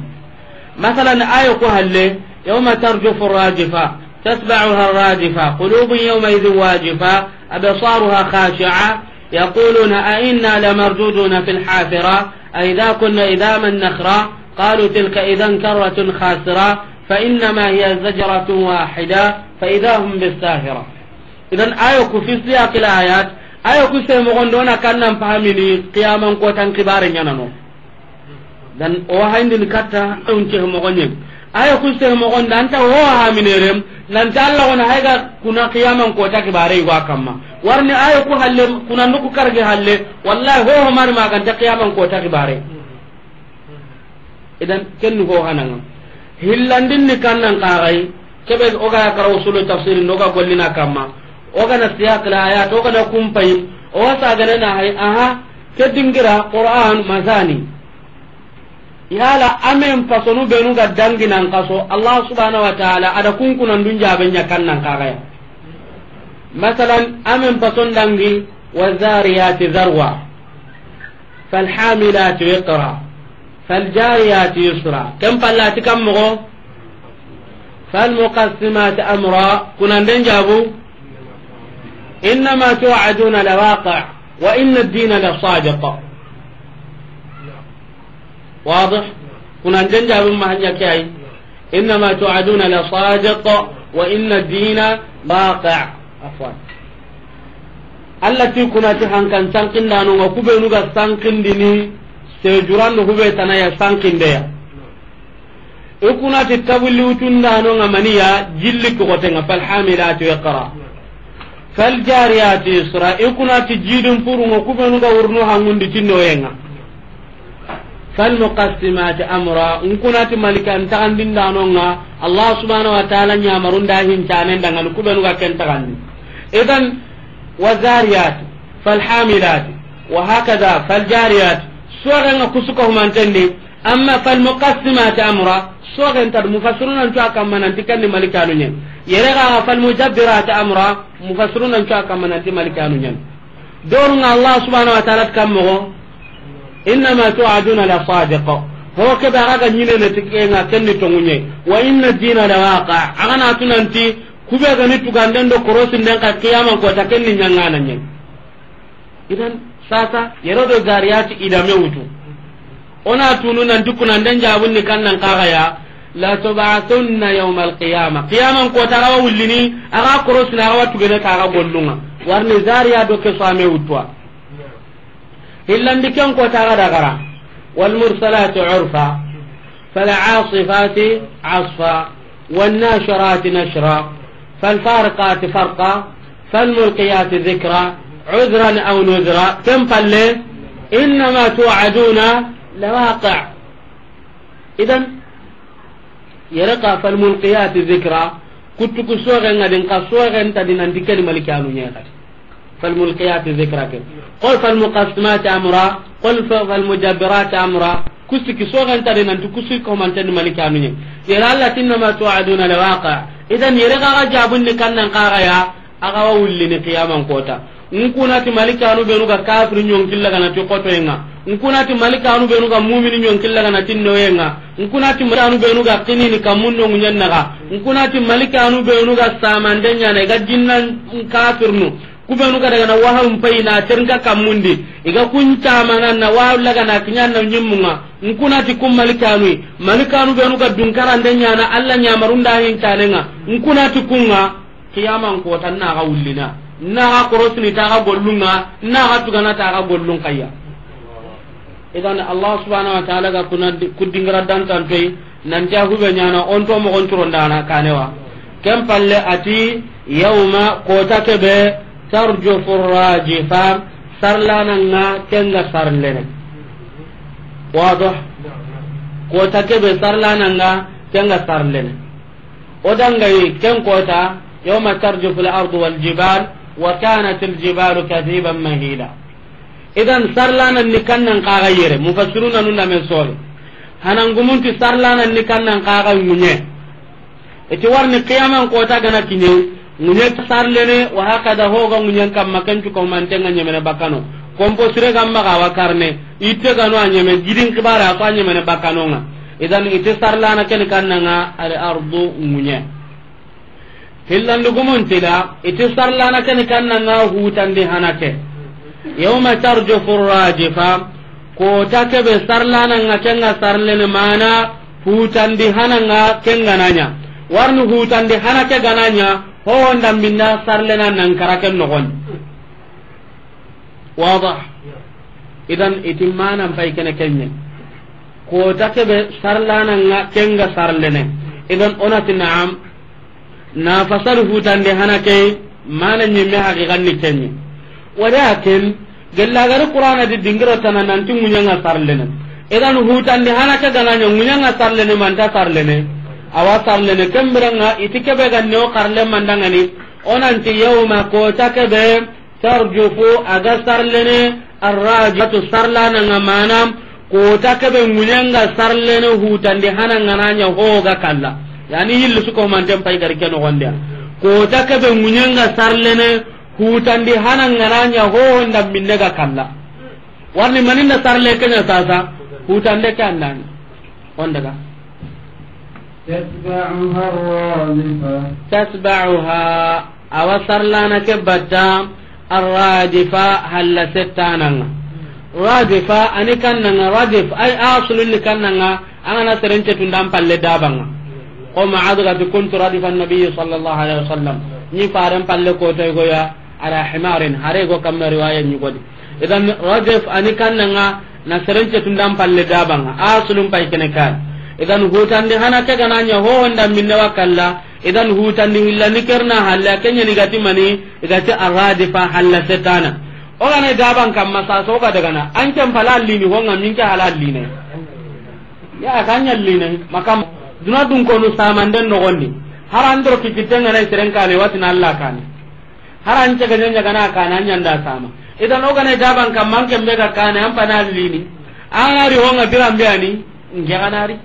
Masalan, ayo ku halle, yawma tarjufu rajifa, tatba'uha rajifa, qulubun yawma idhin wajifa, absaruha khashi'a, yaquluna a inna lamarduduna fil hafira, a idha kunna idhaman nakhra, qalu tilka idhan karratun khasira, fa innama hiya zajratun wahida, fa idha hum bis sahira. Idan ayo ku fi siyaqil ayat, ayo ku se mogondo na kannan pahamini qiyaman kotan kibare ɲanano. Dan o hayndini katta, on ce mogonye. Ayo ku se mogonda anta o haminere, nan ta Allah wona hayga kuna qiyaman kota kibare iwa kamma. Warni ayo ku halle, kuna nuku karge halle, wallahi ho ho mari maganta qiyaman kota kibare. Idan kenni ho hananga. Hillandin ni kannan kagai, kebe o ga kara usulu tafsir no ga gollina kamma. O ga na siyaq la ayat, o ga na kumpai, o sa ga na hay, aha, ke dingira Qur'an masani. Yala amen pasonu benu ga dangi nan kaso, Allah subhanahu wa ta'ala, ada kunkunan dunja benya kannan kagaya. Masalan, amen pason dangi, wa zariyati zarwa, fal hamilati wiqra, fal jariyati yusra. Ken pallati kam mogo, fal muqassimati amra, kunanden jabu, innama tu'aduna lawaqi', wa inna ad-dina lasadiq. Wadih? Kunanden jabu mahanya kiyai. Innama tu'aduna lasadiq, wa inna ad-dina lawaqi'. Afwan. Allah ti kunati hankan sankindano nga kubenu ga sankindini sejurando hube tanaya sankindeya. I kunati tabuli utundano nga maniya jilli kogotenga fal hamilati wiqra. Fal jariyati yusra, i kunati jidin purunga kubenu ga wurnu hangundi tindoyenga. Fal muqassimati amra, n kunati malikan taxandindanonga, Allah subhanahu wa ta'ala ɲamarunda hincanen dangani kubenu ga ken taxandi. Idan, wa zariyati, fal hamilati, wa hakada, fal jariyati, suwaxenga kusuka humantendi, amma fal muqassimati amra, suwaxentad mufassiruna ncu a kamma nanti kenni malikanu ɲen. Yere xaxa fal mudabbirati amra, mufassiruna ncu a kamma nanti malikanu ɲen. Dorunga Allah subhanahu wa ta'ala kan moxo, innama tu'aduna la sadiq. Ho ke be a ga ɲinene ti ke ŋa, ken ni tonŋu ɲa. Wa inna dina la waqi'. A ga na tu nanti, ku be ga ni tuganden do korosinden ka qiyaman kota, ken ni ɲaŋana ɲa. Idan, sasa, yero do zariyati i da me wutu. O na tunu nanti kunanden jabun ni kan nan kaga ya, la tub'athunna yawmal qiyamah. Qiyaman kota a ga wa wullini, a ga korosini, a ga wa tugene ta a ga gollun ŋa. Warni zariya do ke so a me wutuwa. Hillandi ken kota a ga dagara. Wal mursalati urfa. Fal asifati asfa. Wan nashirati nashra. Fal fariqati farqa. Fal mulqiyati dhikra. Udhran aw nudhra. Ken palle. Innama tu'aduna lawaqi'. Idan, yere ka fal mulqiyati dhikra, kutu ku soxe ŋa din ka soxe nta di nanti ken ni malikanu ɲa kati. Fal mulqiyati dhikra ke. Qul fal muqassimati amra, qul fa-, fal mudabbirati amra, kusi ki soxe nta di nanti kusi ko man ten malikanu ɲa. Yere Allah ti innama tu'aduna lawaqi'. Idan yere ka ga jabun ni kan nan kaga ya, a ga wa wullini qiyaman kota. N kuna ti malikanu benu ga kafiri ɲonkilla ga na ti xotoyen ŋa. N kuna ti malikanu benu ga mumini ɲonkilla ga na ti noyen ŋa. N kuna ti malikanu benu ga kinini kamun no ŋuɲen naga. N kuna ti malikanu benu ga samande ɲana i ga jinnan kafirnu. Ku benu ga daga na wahawun payi na terinka kamundi. I ga kun camana na wa laga na kiɲan na ɲimmun ŋa. N kuna ti kun malikanu. Malikanu benu ga dunkarande ɲana Allah ɲamarun da hincanen ŋa. N kuna ti kun ŋa. Qiyaman kota na ga wullina, na ga korosini ta ga gollun ŋa, na ga tugana ta ga gollun kayya. Idan Allah subhanahu wa ta'ala ga kuna di-, ku dingira dantantoyi, nanti a hube ɲana, on to moxon curondana kanewa. Ken palle a ti, yawma kota ke be, tarjufu rajifa, sarlana ŋa ken ga sarlene. Wado? Kota ke be sarlana ŋa ken ga sarlene. O dangayi ken kota, yawma tarjufu al-ardu wal jibal, wa kanat al-jibalu kathiban mahila. Idan sarlana ni kan nan kaga yere, mufassiruna nun da men sori. Hanangumun ti sarlana ni kan nan kaga ŋuɲe. I ti warni qiyaman kota ga na kiɲe, ŋuɲe sarlene, wa hakada ho ga ŋuɲen kamma ken cu ko manten ŋa ɲemene bakano. Kompo sire ga maga wa karne. Itte gano a ɲeme, gidin kibara a ko a ɲemene bakano ŋa. Idan ite sarlana ken kan nan ŋa al ardu ŋuɲe. Hillandu gumun tila, ite sarlana ken kan nan ŋa hutandi hanake. Yawma tarjufu rajifa, kota ke be sarlana ŋa ken ga sarlene mana hutandi hana ŋa ken ga na ɲa. Warni hutandi hanake ga na ɲa, ho honda minna sarlena nan kara ken noxon. Wadah. Idan iti manan pay kene kenye. Kota kebe sarlana nga kenga sarlene. Idan onati naam. Na fasal hutande hana ke mana nyime haqiqan ni kenye. Walakin gella gari Qur'ana di dingiro tana nanti munyanga sarlene. Idan hutande hana ke gananya munyanga sarlene manta sarlene. Awa sarlene kembiranga iti kebe ganne o karle mandangani. Onanti yawma kota kebe tarjufu, a ga sarlene, arrajifatu, sarlana nga mana, kota kebe ŋuɲanga sarlene, hutandi hana nga na ɲa ho ga kalla. Yani yilli su ko manten pay gari ke noxonde. Kota kebe ŋuɲanga sarlene, hutandi hana nga na ɲa ho nda minne ga kalla. Warni maninda sarle kenya sasa, hutande ke andani. On daga. تتبعها الرادفة. تتبعها، awa sarlana ke batta, الرادفة، halla settananga. Radifa, ani kannanga, radif, ay asulun ni kannanga, angana serence tundan palle dabanga. Ko Mu'adh gati, كنت ردف النبي صلى الله عليه وسلم. Ni faren palle ko toy goya, على حمار, hare go kamma riwaya ni godi. Idan radif ani kannanga na serence tundan palle dabanga, asulun pay kene kan. Idan hutandi hana ke gananya ho honda minne wa kalla, idan hutandi hillani kerna halla kenya ni gati mani, gati arradifa halla setana. O gane daban kamma sa so ga daga na, an ken pala lini honga minke halal line. Ya kanya line, makam duna dun konu samanden nogondi. Har andro kikitenga na siren kane watina Allah kane. Har an cega ɲa ɲagana kana ɲanda sama. Idan o gane daban kamma an kembe ga kana an pana lini. An ari honga birambe ani nge ganari.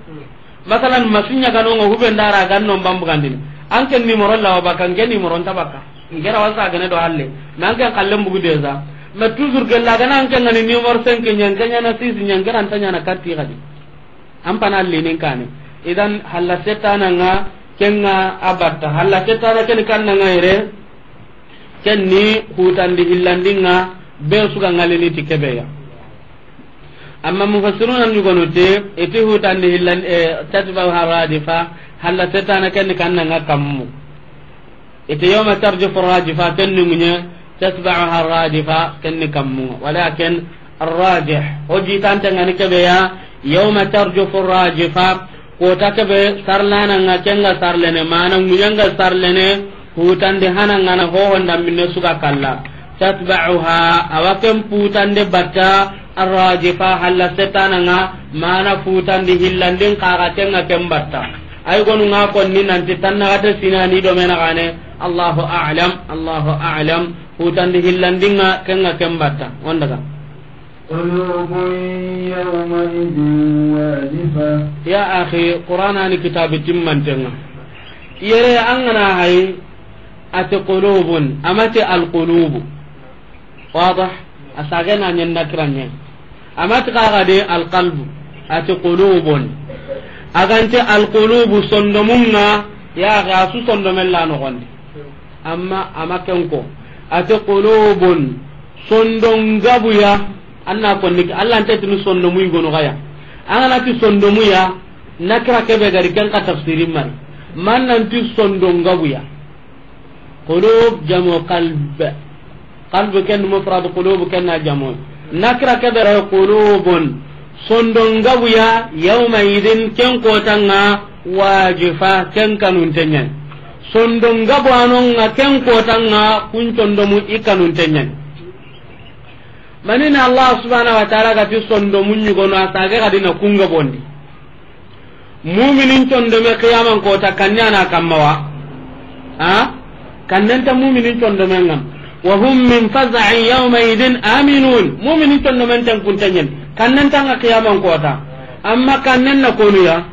Masalan masunya gano ngo hubendara ganno mbambugandini. An ken nimoro lawa baka nge nimoro nta baka. Ngera wasa gane do halle. Nan ken kallen bugu deza. Mais toujours gella ga na an ke ŋa ni numéro cinq ɲa, an ke ɲa na six ɲa, an ke ra nta ɲa na kati xadi. An pana linin kane. Idan halla setana ŋa, ken ŋa a batta. Halla setana ken kanna ŋa yere, ken ni hutandi hillandin ŋa, be su ga ŋalini ti kebe ya. Amma mufassiruna ni gono te, iti hutandi hillan, eh, tatba'uha radifa, halla setana ken kanna ŋa kammu. Iti yawma tarjufu rajifa, ken ni munye, tatba'uha radifa, ken ni kammu. Walakin arrajih, o jitante ŋa ni kebe ya, yawma tarjufu rajifa, kota kebe sarlana ŋa ken ŋa sarlene, mana munye ŋa sarlene, hutandi hana ŋa na hohonda minne su ga kalla. Tatba'uha, awa ken putande batta, arrajifa, halla setana ŋa, mana futandi hillandin kaga ken ŋa ken batta. Ay gonu ŋa konni nanti tanna gata sinani do mena gane. Allahu a'lam, Allahu a'lam. Futandi hillandin ŋa ken ŋa ken batta. On daga. قلوب يومئذ واجفة. Ya akhi, Qur'ana ni kitabi timmanten ŋa. Yere an ga na hay, ati qulubun, amati alqulubu. Wadah? A sage na ɲen nakira ɲe. Amati kaga de alqalbu. Ati qulubun. Agante alqulubu sondomun ŋa, ya ga su sondomen la no gondi. Amma ama ken ko. Ati qulubun, sondon gabuya. Anna konni Allah nta tini sondomu yigono gaya. An ga na ti sondomu ya, nakira kebe gari ken ka tafsirin mari. Man nan ti sondon gabuya. Qulub jamu qalb. Qalb ken mufrad, qulub ken na jamu. Nakira kebe ra qulubun. Sondon gabuya yawma idin ken kota ŋa wajifa ken kanunten ɲa ni. Sondon gabu anon ŋa ken kota ŋa kun sondomu i kanunten ɲa ni. Manini Allah subhanahu wa ta'ala ga ti sondomu ɲigono a sage ga dina kun gabondi. Muminin sondome qiyaman kota kanne a na kamma wa? Ha? Kannen ta muminin sondomen ŋa. Wa hum min faza'in yawma idin aminun. Muminin sondomen ten kunten ɲa ni. Kannen ta ŋa qiyaman kota. Amma kannen na konu ya.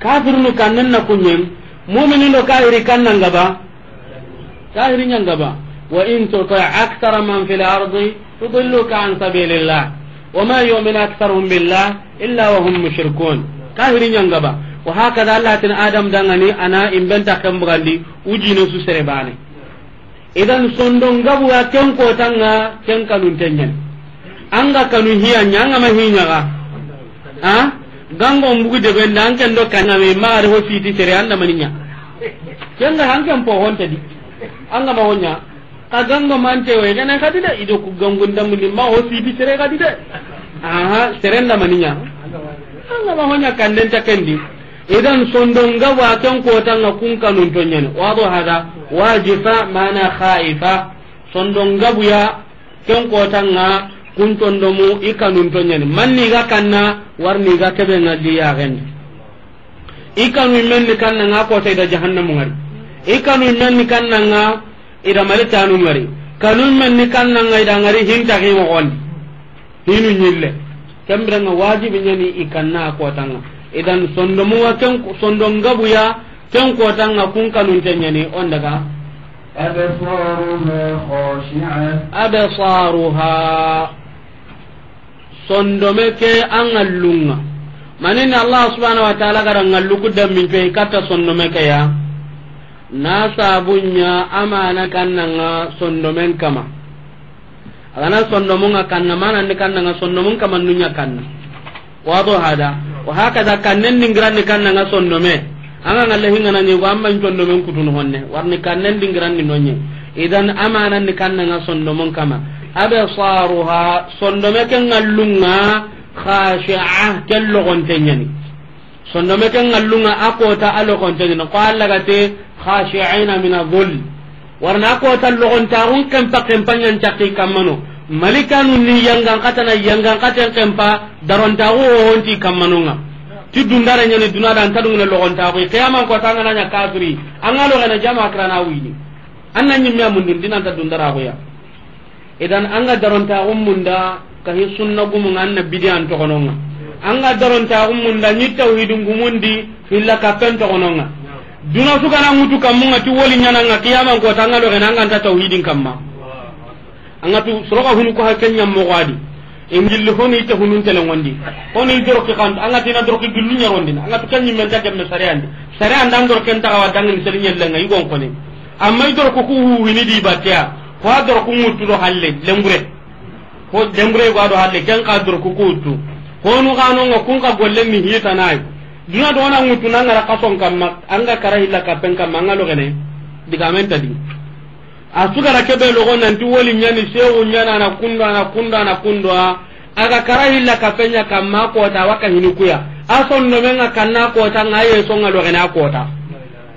Kafirunu kannen na kunyen. Muminin do kafiri kannan gaba. Kahiri ɲa ŋa ba. وإن تطع أكثر من في الأرض يضلوك عن سبيل الله وما يؤمن أكثرهم بالله إلا وهم مشركون. Kahiri ɲa ŋa ba. Wa hakada Allah tin Adam dangani a na imben ta ken bugandi ujine su sere bane. Idan sondon gabu ya ken kota ŋa ken kanunten ɲa ni. An ga kanu hiya ɲa, an ga ma hi ɲa ga. Ha? Gango mbugu de benda an ken do kanga me ma re ho siti sere anda maninya. Ken ga han ken po honte di. An ga ma honya. Ka gango mante we gane kadi de ido ku gango ndamuni ma ho siti sere kadi de. Aha, sere nda maninya. An ga ma honya kanden ta kendi. Idan sondon gabu a ken kota ŋa kun kanunten ɲa ni. Wado hada, wajifa mana khaifa. Sondon gabu ya ken kota ŋa kun sondomu i kanunten ɲa ni. Manni ga kanna, warni ga kebe ŋa di ya gen. I kanu menni kanna ŋa kota i da jahannamu ŋari. I kanu menni kanna ŋa i da malitanu ŋari. Kanu menni kanna ŋa i da ŋari hinta ki mo gondi. Hinu ɲille. Kembira ŋa wajibi ɲa ni i kanna a kota ŋa. Idan sondomu wa ken sondon gabu ya ken kota ŋa kun kanunten ɲa ni on daga. أبصارها خاشعة. أبصارها. Sondome ke a ŋallun ŋa. Manini Allah subhanahu wa ta'ala ga ra ŋallu ku dammin pe katta sondome ke ya. Na sabunya amana kanna ŋa sondomen kama. A ga na sondomun ŋa kanna, mana ni kanna ŋa sondomun kama nunya kanna. Wado hada. Wa hakada kannen dingiran ni kanna ŋa sondome. An ga ŋalle hinga na ɲi go amma sondomen kutun honne. Warni kannen dingiran ni nonye. Idan amana ni kanna ŋa sondomun kama. Absaruha, sondome ke ŋallun ŋa khashi'a, ken logonten ɲa ni. Sondome ke ŋallun ŋa a kota a logonten ɲa ni. Ko Allah ga te khashi'ina min adh-dhull. Warna a kota logontaxun kempa kempa ɲan cakki kammano. Malikanu ni yangan katana yangan katen kempa darontaxu honti kammano ŋa. Ti dundara ɲa ni duna da an ta dungene logontaxu. Qiyaman kota an ga na ɲa kafiri. An ga logene jama kirana wini. An na ɲimme a mundun dinanta dundara xuya. Idan an ga darontaxun munda kahi sunna gumu ŋa an na bidiyan toxono ŋa. An ga darontaxun munda ɲi tawhidin gumundi hilla kappen toxono ŋa. Duna su ga na ŋutu kammu ŋa ti woli ɲana ŋa qiyaman kota an ga logene an ga nta tawhidin kamma. An ga tu soroka hunu ko ha ken ɲa moxo a di. Ingilli honi ite hunun telengondi. Honi doroki kan, an ga tina doroki gillu ɲarondini. An ga tu ken ɲimmen ta gemme sariyandi. Sariyandi an doroken taxawa dangini seli ɲellenga, i gon koni. Amma i doroku ku huwini di batteya. Ko a doroku ŋuttu do halle, lembure. Ko lembure go a do halle, ken xa doroku ku wuttu. Honu xanonga kun xa golle ni hitanayi. Duna do na ŋuttu na ŋara xason kamma, an ga kara hilla kapen kamma, an ga logene. Digamen ta di. A sugara kebe logo nanti woli ɲani, sewu ɲani, ana kundo, ana kundo, ana kundo, a ga kara hilla kapen ɲa kamma kota, waka hini kuya. A sondomenga kanna kota, nga ye songa logene a kota.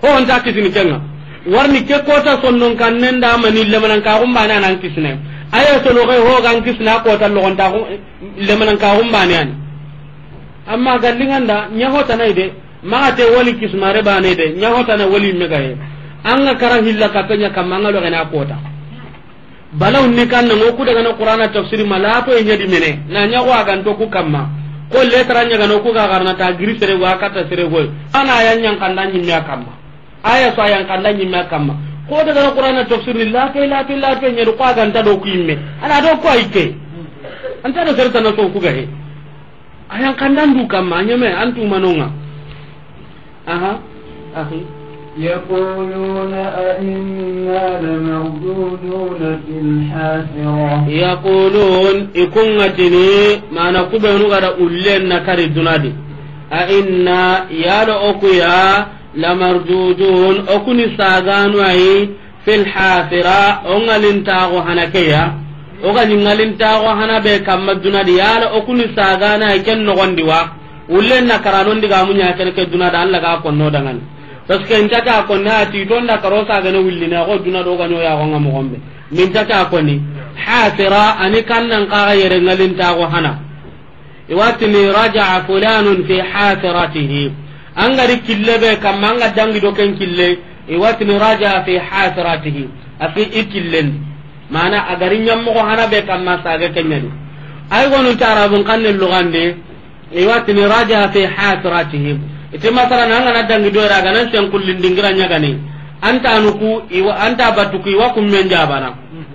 Ho, onta kisini kenga. Warni ke kota sondon kannen da mani lemanan ka gumbane anan kisine. A ye so loge ho gan kisina kota logonta gu-, lemanan ka gumbane ani. Amma gallinganda, ɲa hotana ide. Maxa te woli kismare bane de, ɲa hotana woli megaye. An ga kara hilla kapen ɲa kamma, an ga logene a kota. Balaw ni kanna ngo ku daga na Qur'ana tafsiri ma lato e ɲa di mene. Na ɲa go a ganto ku kamma. Ko letra ɲa ga no ku ga garna ta giri sere go a katta sere go. Ana ya ɲan kanda ɲimme a kamma. Aya so a yan kanda ɲimme a kamma. Ko daga na Qur'ana tafsiri lato, lato, lato e ɲa do ko a ganta do ku yimme. Ana do ko ayke. Anta do sere tana so ku ga he. A yan kandan du kamma, a ɲeme, an tumanonga. Aha, ahi. يقولون أئنا لمردودون في الحافرة. Yaqulun, i kunga tini, mana kubenu ga da ullen na kari dunadi. A inna, yala o ku ya, lamardudun, o ku ni saganu ayi, fil hafira, o ŋalintaxo hana ke ya. O ga ni ŋalintaxo hana be kamma dunadi, yala o ku ni sagana ken noxondi wa. Ullen na karanon diga muɲa ken ke dunadi, Alla ga konno dangani. Parce que inta ka konni a ti tonda karo sagane willine, xo dunadi o ga ɲo ya xo nga moxombe. Minta ka konni. Hafira, ani kannan kaga yere ŋalintaxo hana. I wa tini raja'a fulanun fi hafiratihi. An ga ri kille be kamma, an ga dangi do ken kille, i wa tini raja'a fi hafiratihi. A fi i killen. Mana a ga ri ɲammoxo hana be kamma, sage ke ɲa di. Ay gonun ta Arabun xanne lugande, i wa tini raja'a fi hafiratihi. Iti masalan, an ga na dangi do ra ga nan sen kullin dingira ɲa gani. Anta nuku, i wa, anta batuku, i wa kummen jabana.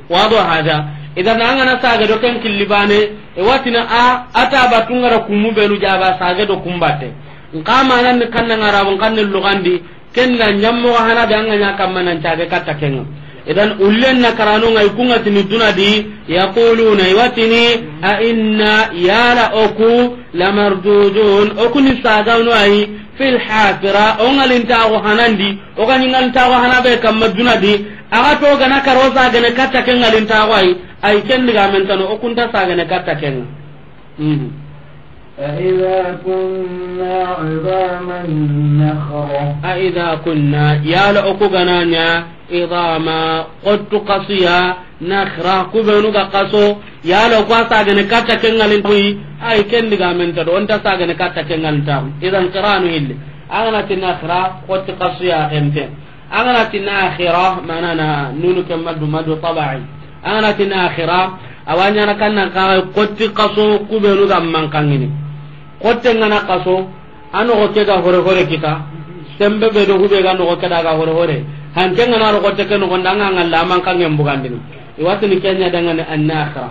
Wado hada. Idan an ga na sage do ken killi bane, e watina a, ata batungara kumu benu jaba sage do kumbate. Nka manan ni kanna Arabun xanne lugandi, kenna ɲammoxo hana be an ga ɲa kamma nan cage katta kenga. Idan ullen na karano ngai kunga tini dunadi, yaquluna, i wa tini, a inna, yala o ku, lamardudun, o ku ni saganu ayi, fil hafira, o ŋalintaxo hanandi, o ga ni ŋalintaxo hana be kamma dunadi, a ga to gana karo sagene katta ke ŋalintaxo ayi, ay ken digamen tano, o kunta sagene katta kenga. Mhm. أإذا كنا عظاما نخرة. A idha kunna, yala o ku ga na ɲa, idhama, xottu xasuya, nakhra, kubenu ga xaso, yala o ku a sagene katta ke ŋalin kuyi, ay ken digamen ta do, onta sagene katta ke ŋalin ta. Idan qiranu hilli. An ga na ti nakhra, xotti xasuya xente. An ga na ti nakhira, mana na nunu ke maddu, maddu taba'i. An ga na ti nakhira, a wa ɲana kannan kaga xotti xaso kubenu ga mankangini. Xotte ngana xaso, a noxo ke ga hore hore kita, sembe be do hube ga noxo ke da ga hore hore. Hanke ngana ro xotte ke noxo nda nga ngalla mankangen bugandini. I wa tini ken ɲa dangani an nakhira.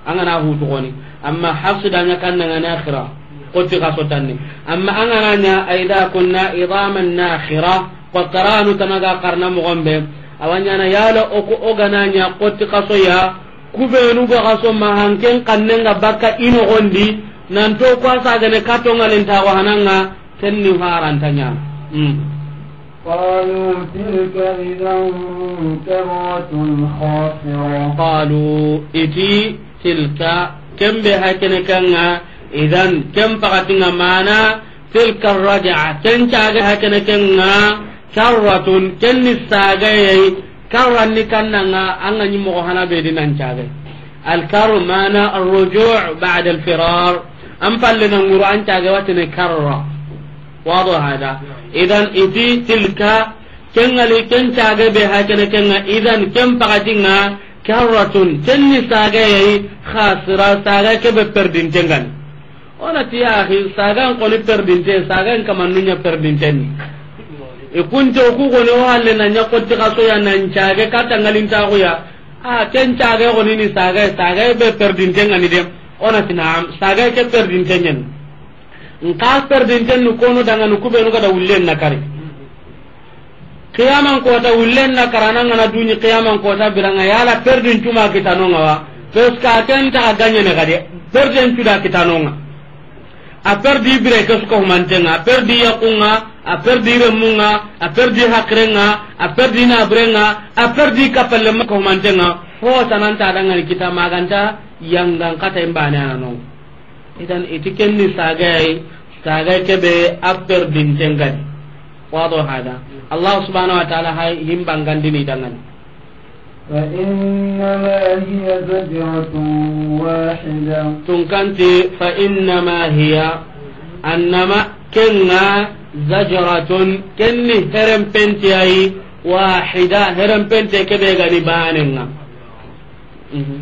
An ga na hutu goni. Amma Hafsu da ɲa kanna ngana akhira. Xotti xaso tanni. Amma an ga na ɲa a idha kunna idhaman nakhira. Ko qaranu tana ga qarna moxombe. A wa ɲana yala o ku o ga na ɲa xotti xaso ya. Kubenu ga xaso ma hanken xannen ga bakka i noxondi. Nanto ku a sagene kato ŋalintaxo hananga. Ken ni haranta ɲana. Mm. قالوا تلك إذا كرة خاسرة. Qalu, iti, tilka, ken be hakene kenga, idan, ken pakatinga mana, tilka raja'a, ken cage hakene kenga, karratun, ken ni sagaye, karran ni kannanga, an ga ni moxo hana be di nan cage. Al karru mana ar-ruju' ba'da al-firar. An palle na nguru an cage watene karra. Wado hada. Idan iti tilka, ken ŋali ken cage be hakene kenga, idan ken pakatinga, karratun, ken ni sage yayi, khasira, sage ke be perdinte ngani. Ona ti ya akhi, sagan koni perdinte, sagan kamannu ɲa perdinte ni. I kunte o ku gone o halle na ɲa xotti xaso ya nan cage katta ŋalintaxu ya. A, ken caage xo ni ni saage, saage be perdinten ŋa ni de. O na ti naam, saage ke perdinten ɲa ni. Nxa perdinten ni kono dangani ku be nu ga da wullen na kari. Qiyaman kota wullen na karana ŋa na duɲi qiyaman kota bire ŋa, yala perdin cuma kitano ŋa wa? Parce que a ken ta ga ɲa ne ga de, perdin cu da kitano ŋa. A perdi bire ke su ko humanten ŋa, a perdi yakun ŋa, a perdi remmun ŋa, a perdi haqiren ŋa, a perdi naburen ŋa, a perdi kappalle ma ko humanten ŋa. Ho tananta dangani kita ma ga nta yangan kata imbane anano. Idan i ti ken ni saage yi, saage ke be a perdinten ŋa ni. Wado hada. Allah subhanahu wa ta'ala hay himbangandini dangani. فإنما هي زجرة واحدة. Tunkanti, فإنما هي, annama ken ŋa, زجرة, ken ni herempenti ya yi, واحدة, herempente ke be ga ni banen ŋa. Mhm.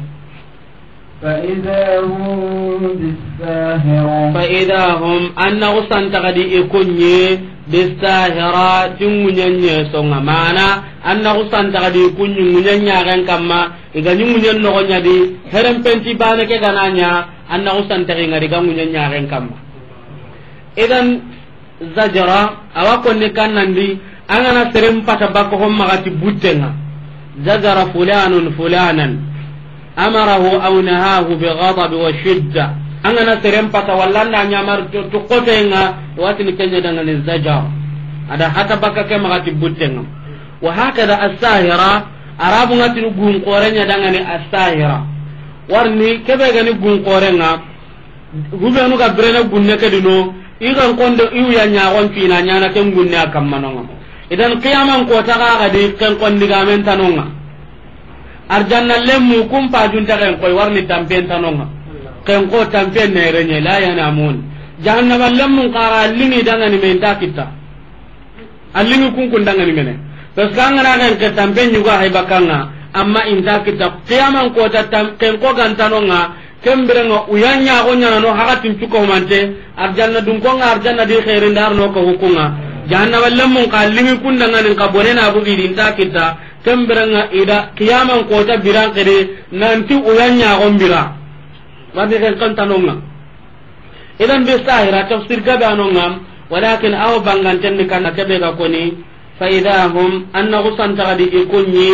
فإذا هم بالساهرة. فإذا هم, an na xusantaxadi i kunɲi, بالساهرة, ti ŋuɲenɲe songa. Mana, an na xusantaxadi i kunɲi ŋuɲenɲaxen kamma, i ga ɲi ŋuɲen noxo ɲa di, herempenti bane ke ga na ɲa, an na xusantaxi ŋa di ga ŋuɲenɲaxen kamma. Idan, Zajara, a wa konni kannandi, an ga na seren pata baka hon maxa ti butten ŋa. Zajara fulanun fulanan, amarahu aw nahahu bi ghadab wa shidda. An ga na seren pata walla an da ɲamari to, to koten ŋa, i wa tini ken ɲa dangani zajar. A da hata baka ke maxa ti butten ŋa. Wa hakada as-sahira, Arabun ŋa tini gun xoren ɲa dangani as-sahira. Warni ke be ga ni gun xoren ŋa, Hubenu ga birene gunne ke dino, i ga n kondo i wuya ɲaxon fina ɲana ken gunne a kamma no ŋa. Idan qiyaman kota ga ga di ken kon digamen tano ŋa. Arjanna lemmu kun pajunta ken koy warni tampen tano ŋa. Ken ko tampen ne renye la yanamun. Jahannaba lemmun xara lingi dangani me nta kitta. A lingi kunkun dangani mene. Parce que an ga na ken ke tampe ɲuga hay bakanga, amma inta kita qiyaman kota tam-, ken ko gantano ŋa, ken bire ŋa uya ɲaxo ɲana no hakatin cuko mante, arjanna dun ko ŋa arjanna di xeerin dar no ko hukunga. Jahannaba lemmun ka lingi kun dangani ka bone na bugi di inta kita, ken bire ŋa i da qiyaman kota biran xiri nanti uya ɲaxon bira. Wadi ken kan tano ŋa. Idan bi sahira tafsir gabe ano ŋa, walakin aw banganten ni kan ke be ga koni, fa idha hum, an na xusantaxadi i kunɲi,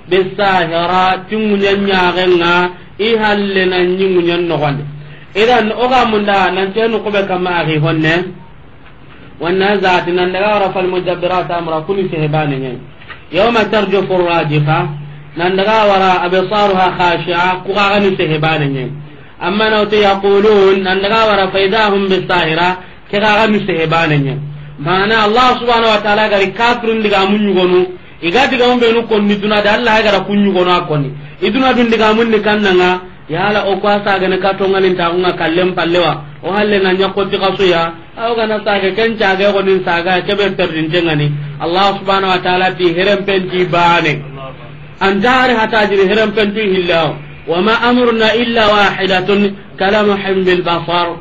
bi sahira, ti ŋuɲen ɲaxen ŋa, i halle na ɲi ŋuɲen noxondi. Idan o ga munda nan tenu kube kamma axi honne. Wanna zati nan daga wara fal mudabbirati amra kuni sehe bane ɲa. Yawma tarjufu rajifa, nan daga wara absaruha khashi'a, ku ga ni sehe bane ɲa. Amma na wuti yaqulun, nan daga wara fa idha hum bi sahira, ke ga ni sehe bane ɲa. Mana Allah subhanahu wa ta'ala gari kafirun digamun ɲugonu, i ga digamun benu konni duna da Allah gara kun ɲugonu a konni. I duna dun digamun ni kannanga, yala o ko a sagane ka tonganin ta ŋa kallen pallewa, o halle na ɲa ko ti kaso ya, Aw ga na sage ken cage xo nin saga ke be perdinte ŋa ni. Allah subhanahu wa ta'ala ti herempenti bane. Anta hari hata jiri herempentu hillawo. Wa ma amruna illa wahidatun kalamhin bil basar.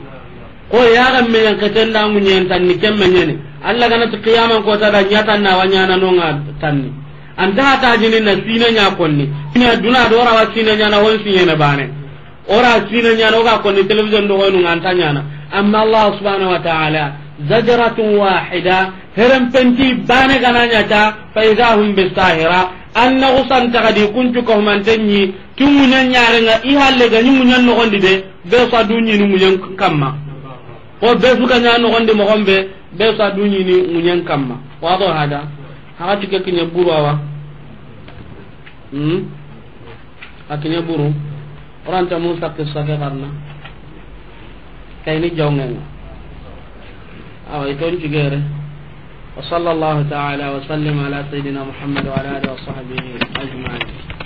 Ko ya ga me yan keten da ŋuɲen tan ni kemme ɲeni. Allah ga na ti qiyaman kota da ɲa tan na wa ɲana no ŋa tan ni. Anta hata jini na sine ɲa konni. Ina duna do ra wa sine ɲana hon sine bane. Ora sine ɲana, o ga konni television do hoynu ŋa anta ɲana. Amma Allah subhanahu wa ta'ala, zajratun wahida, herempenti bane ga na ɲa ta, fa idha hum bi sahira, an na xusantaxadi kuncu ko humanten ɲi, ti ŋuɲen ɲaxen ŋa, i halle ga ɲi ŋuɲen noxondi de, be sa du ɲini ŋuɲen kamma. Ko be su ga ɲa noxondi moxon be, be sa du ɲini ŋuɲen kamma. Wado hada, haka tike kiɲe buru awa. Hmm? A kiɲe buru. Oranta Musa qissa ke xarana. Kayni jongen ŋa. Awa, i ton cigere. Wa sallallahu ta'ala wa sallim ala sayyidina Muhammad wa ala alihi wa sahbihi ajma'in.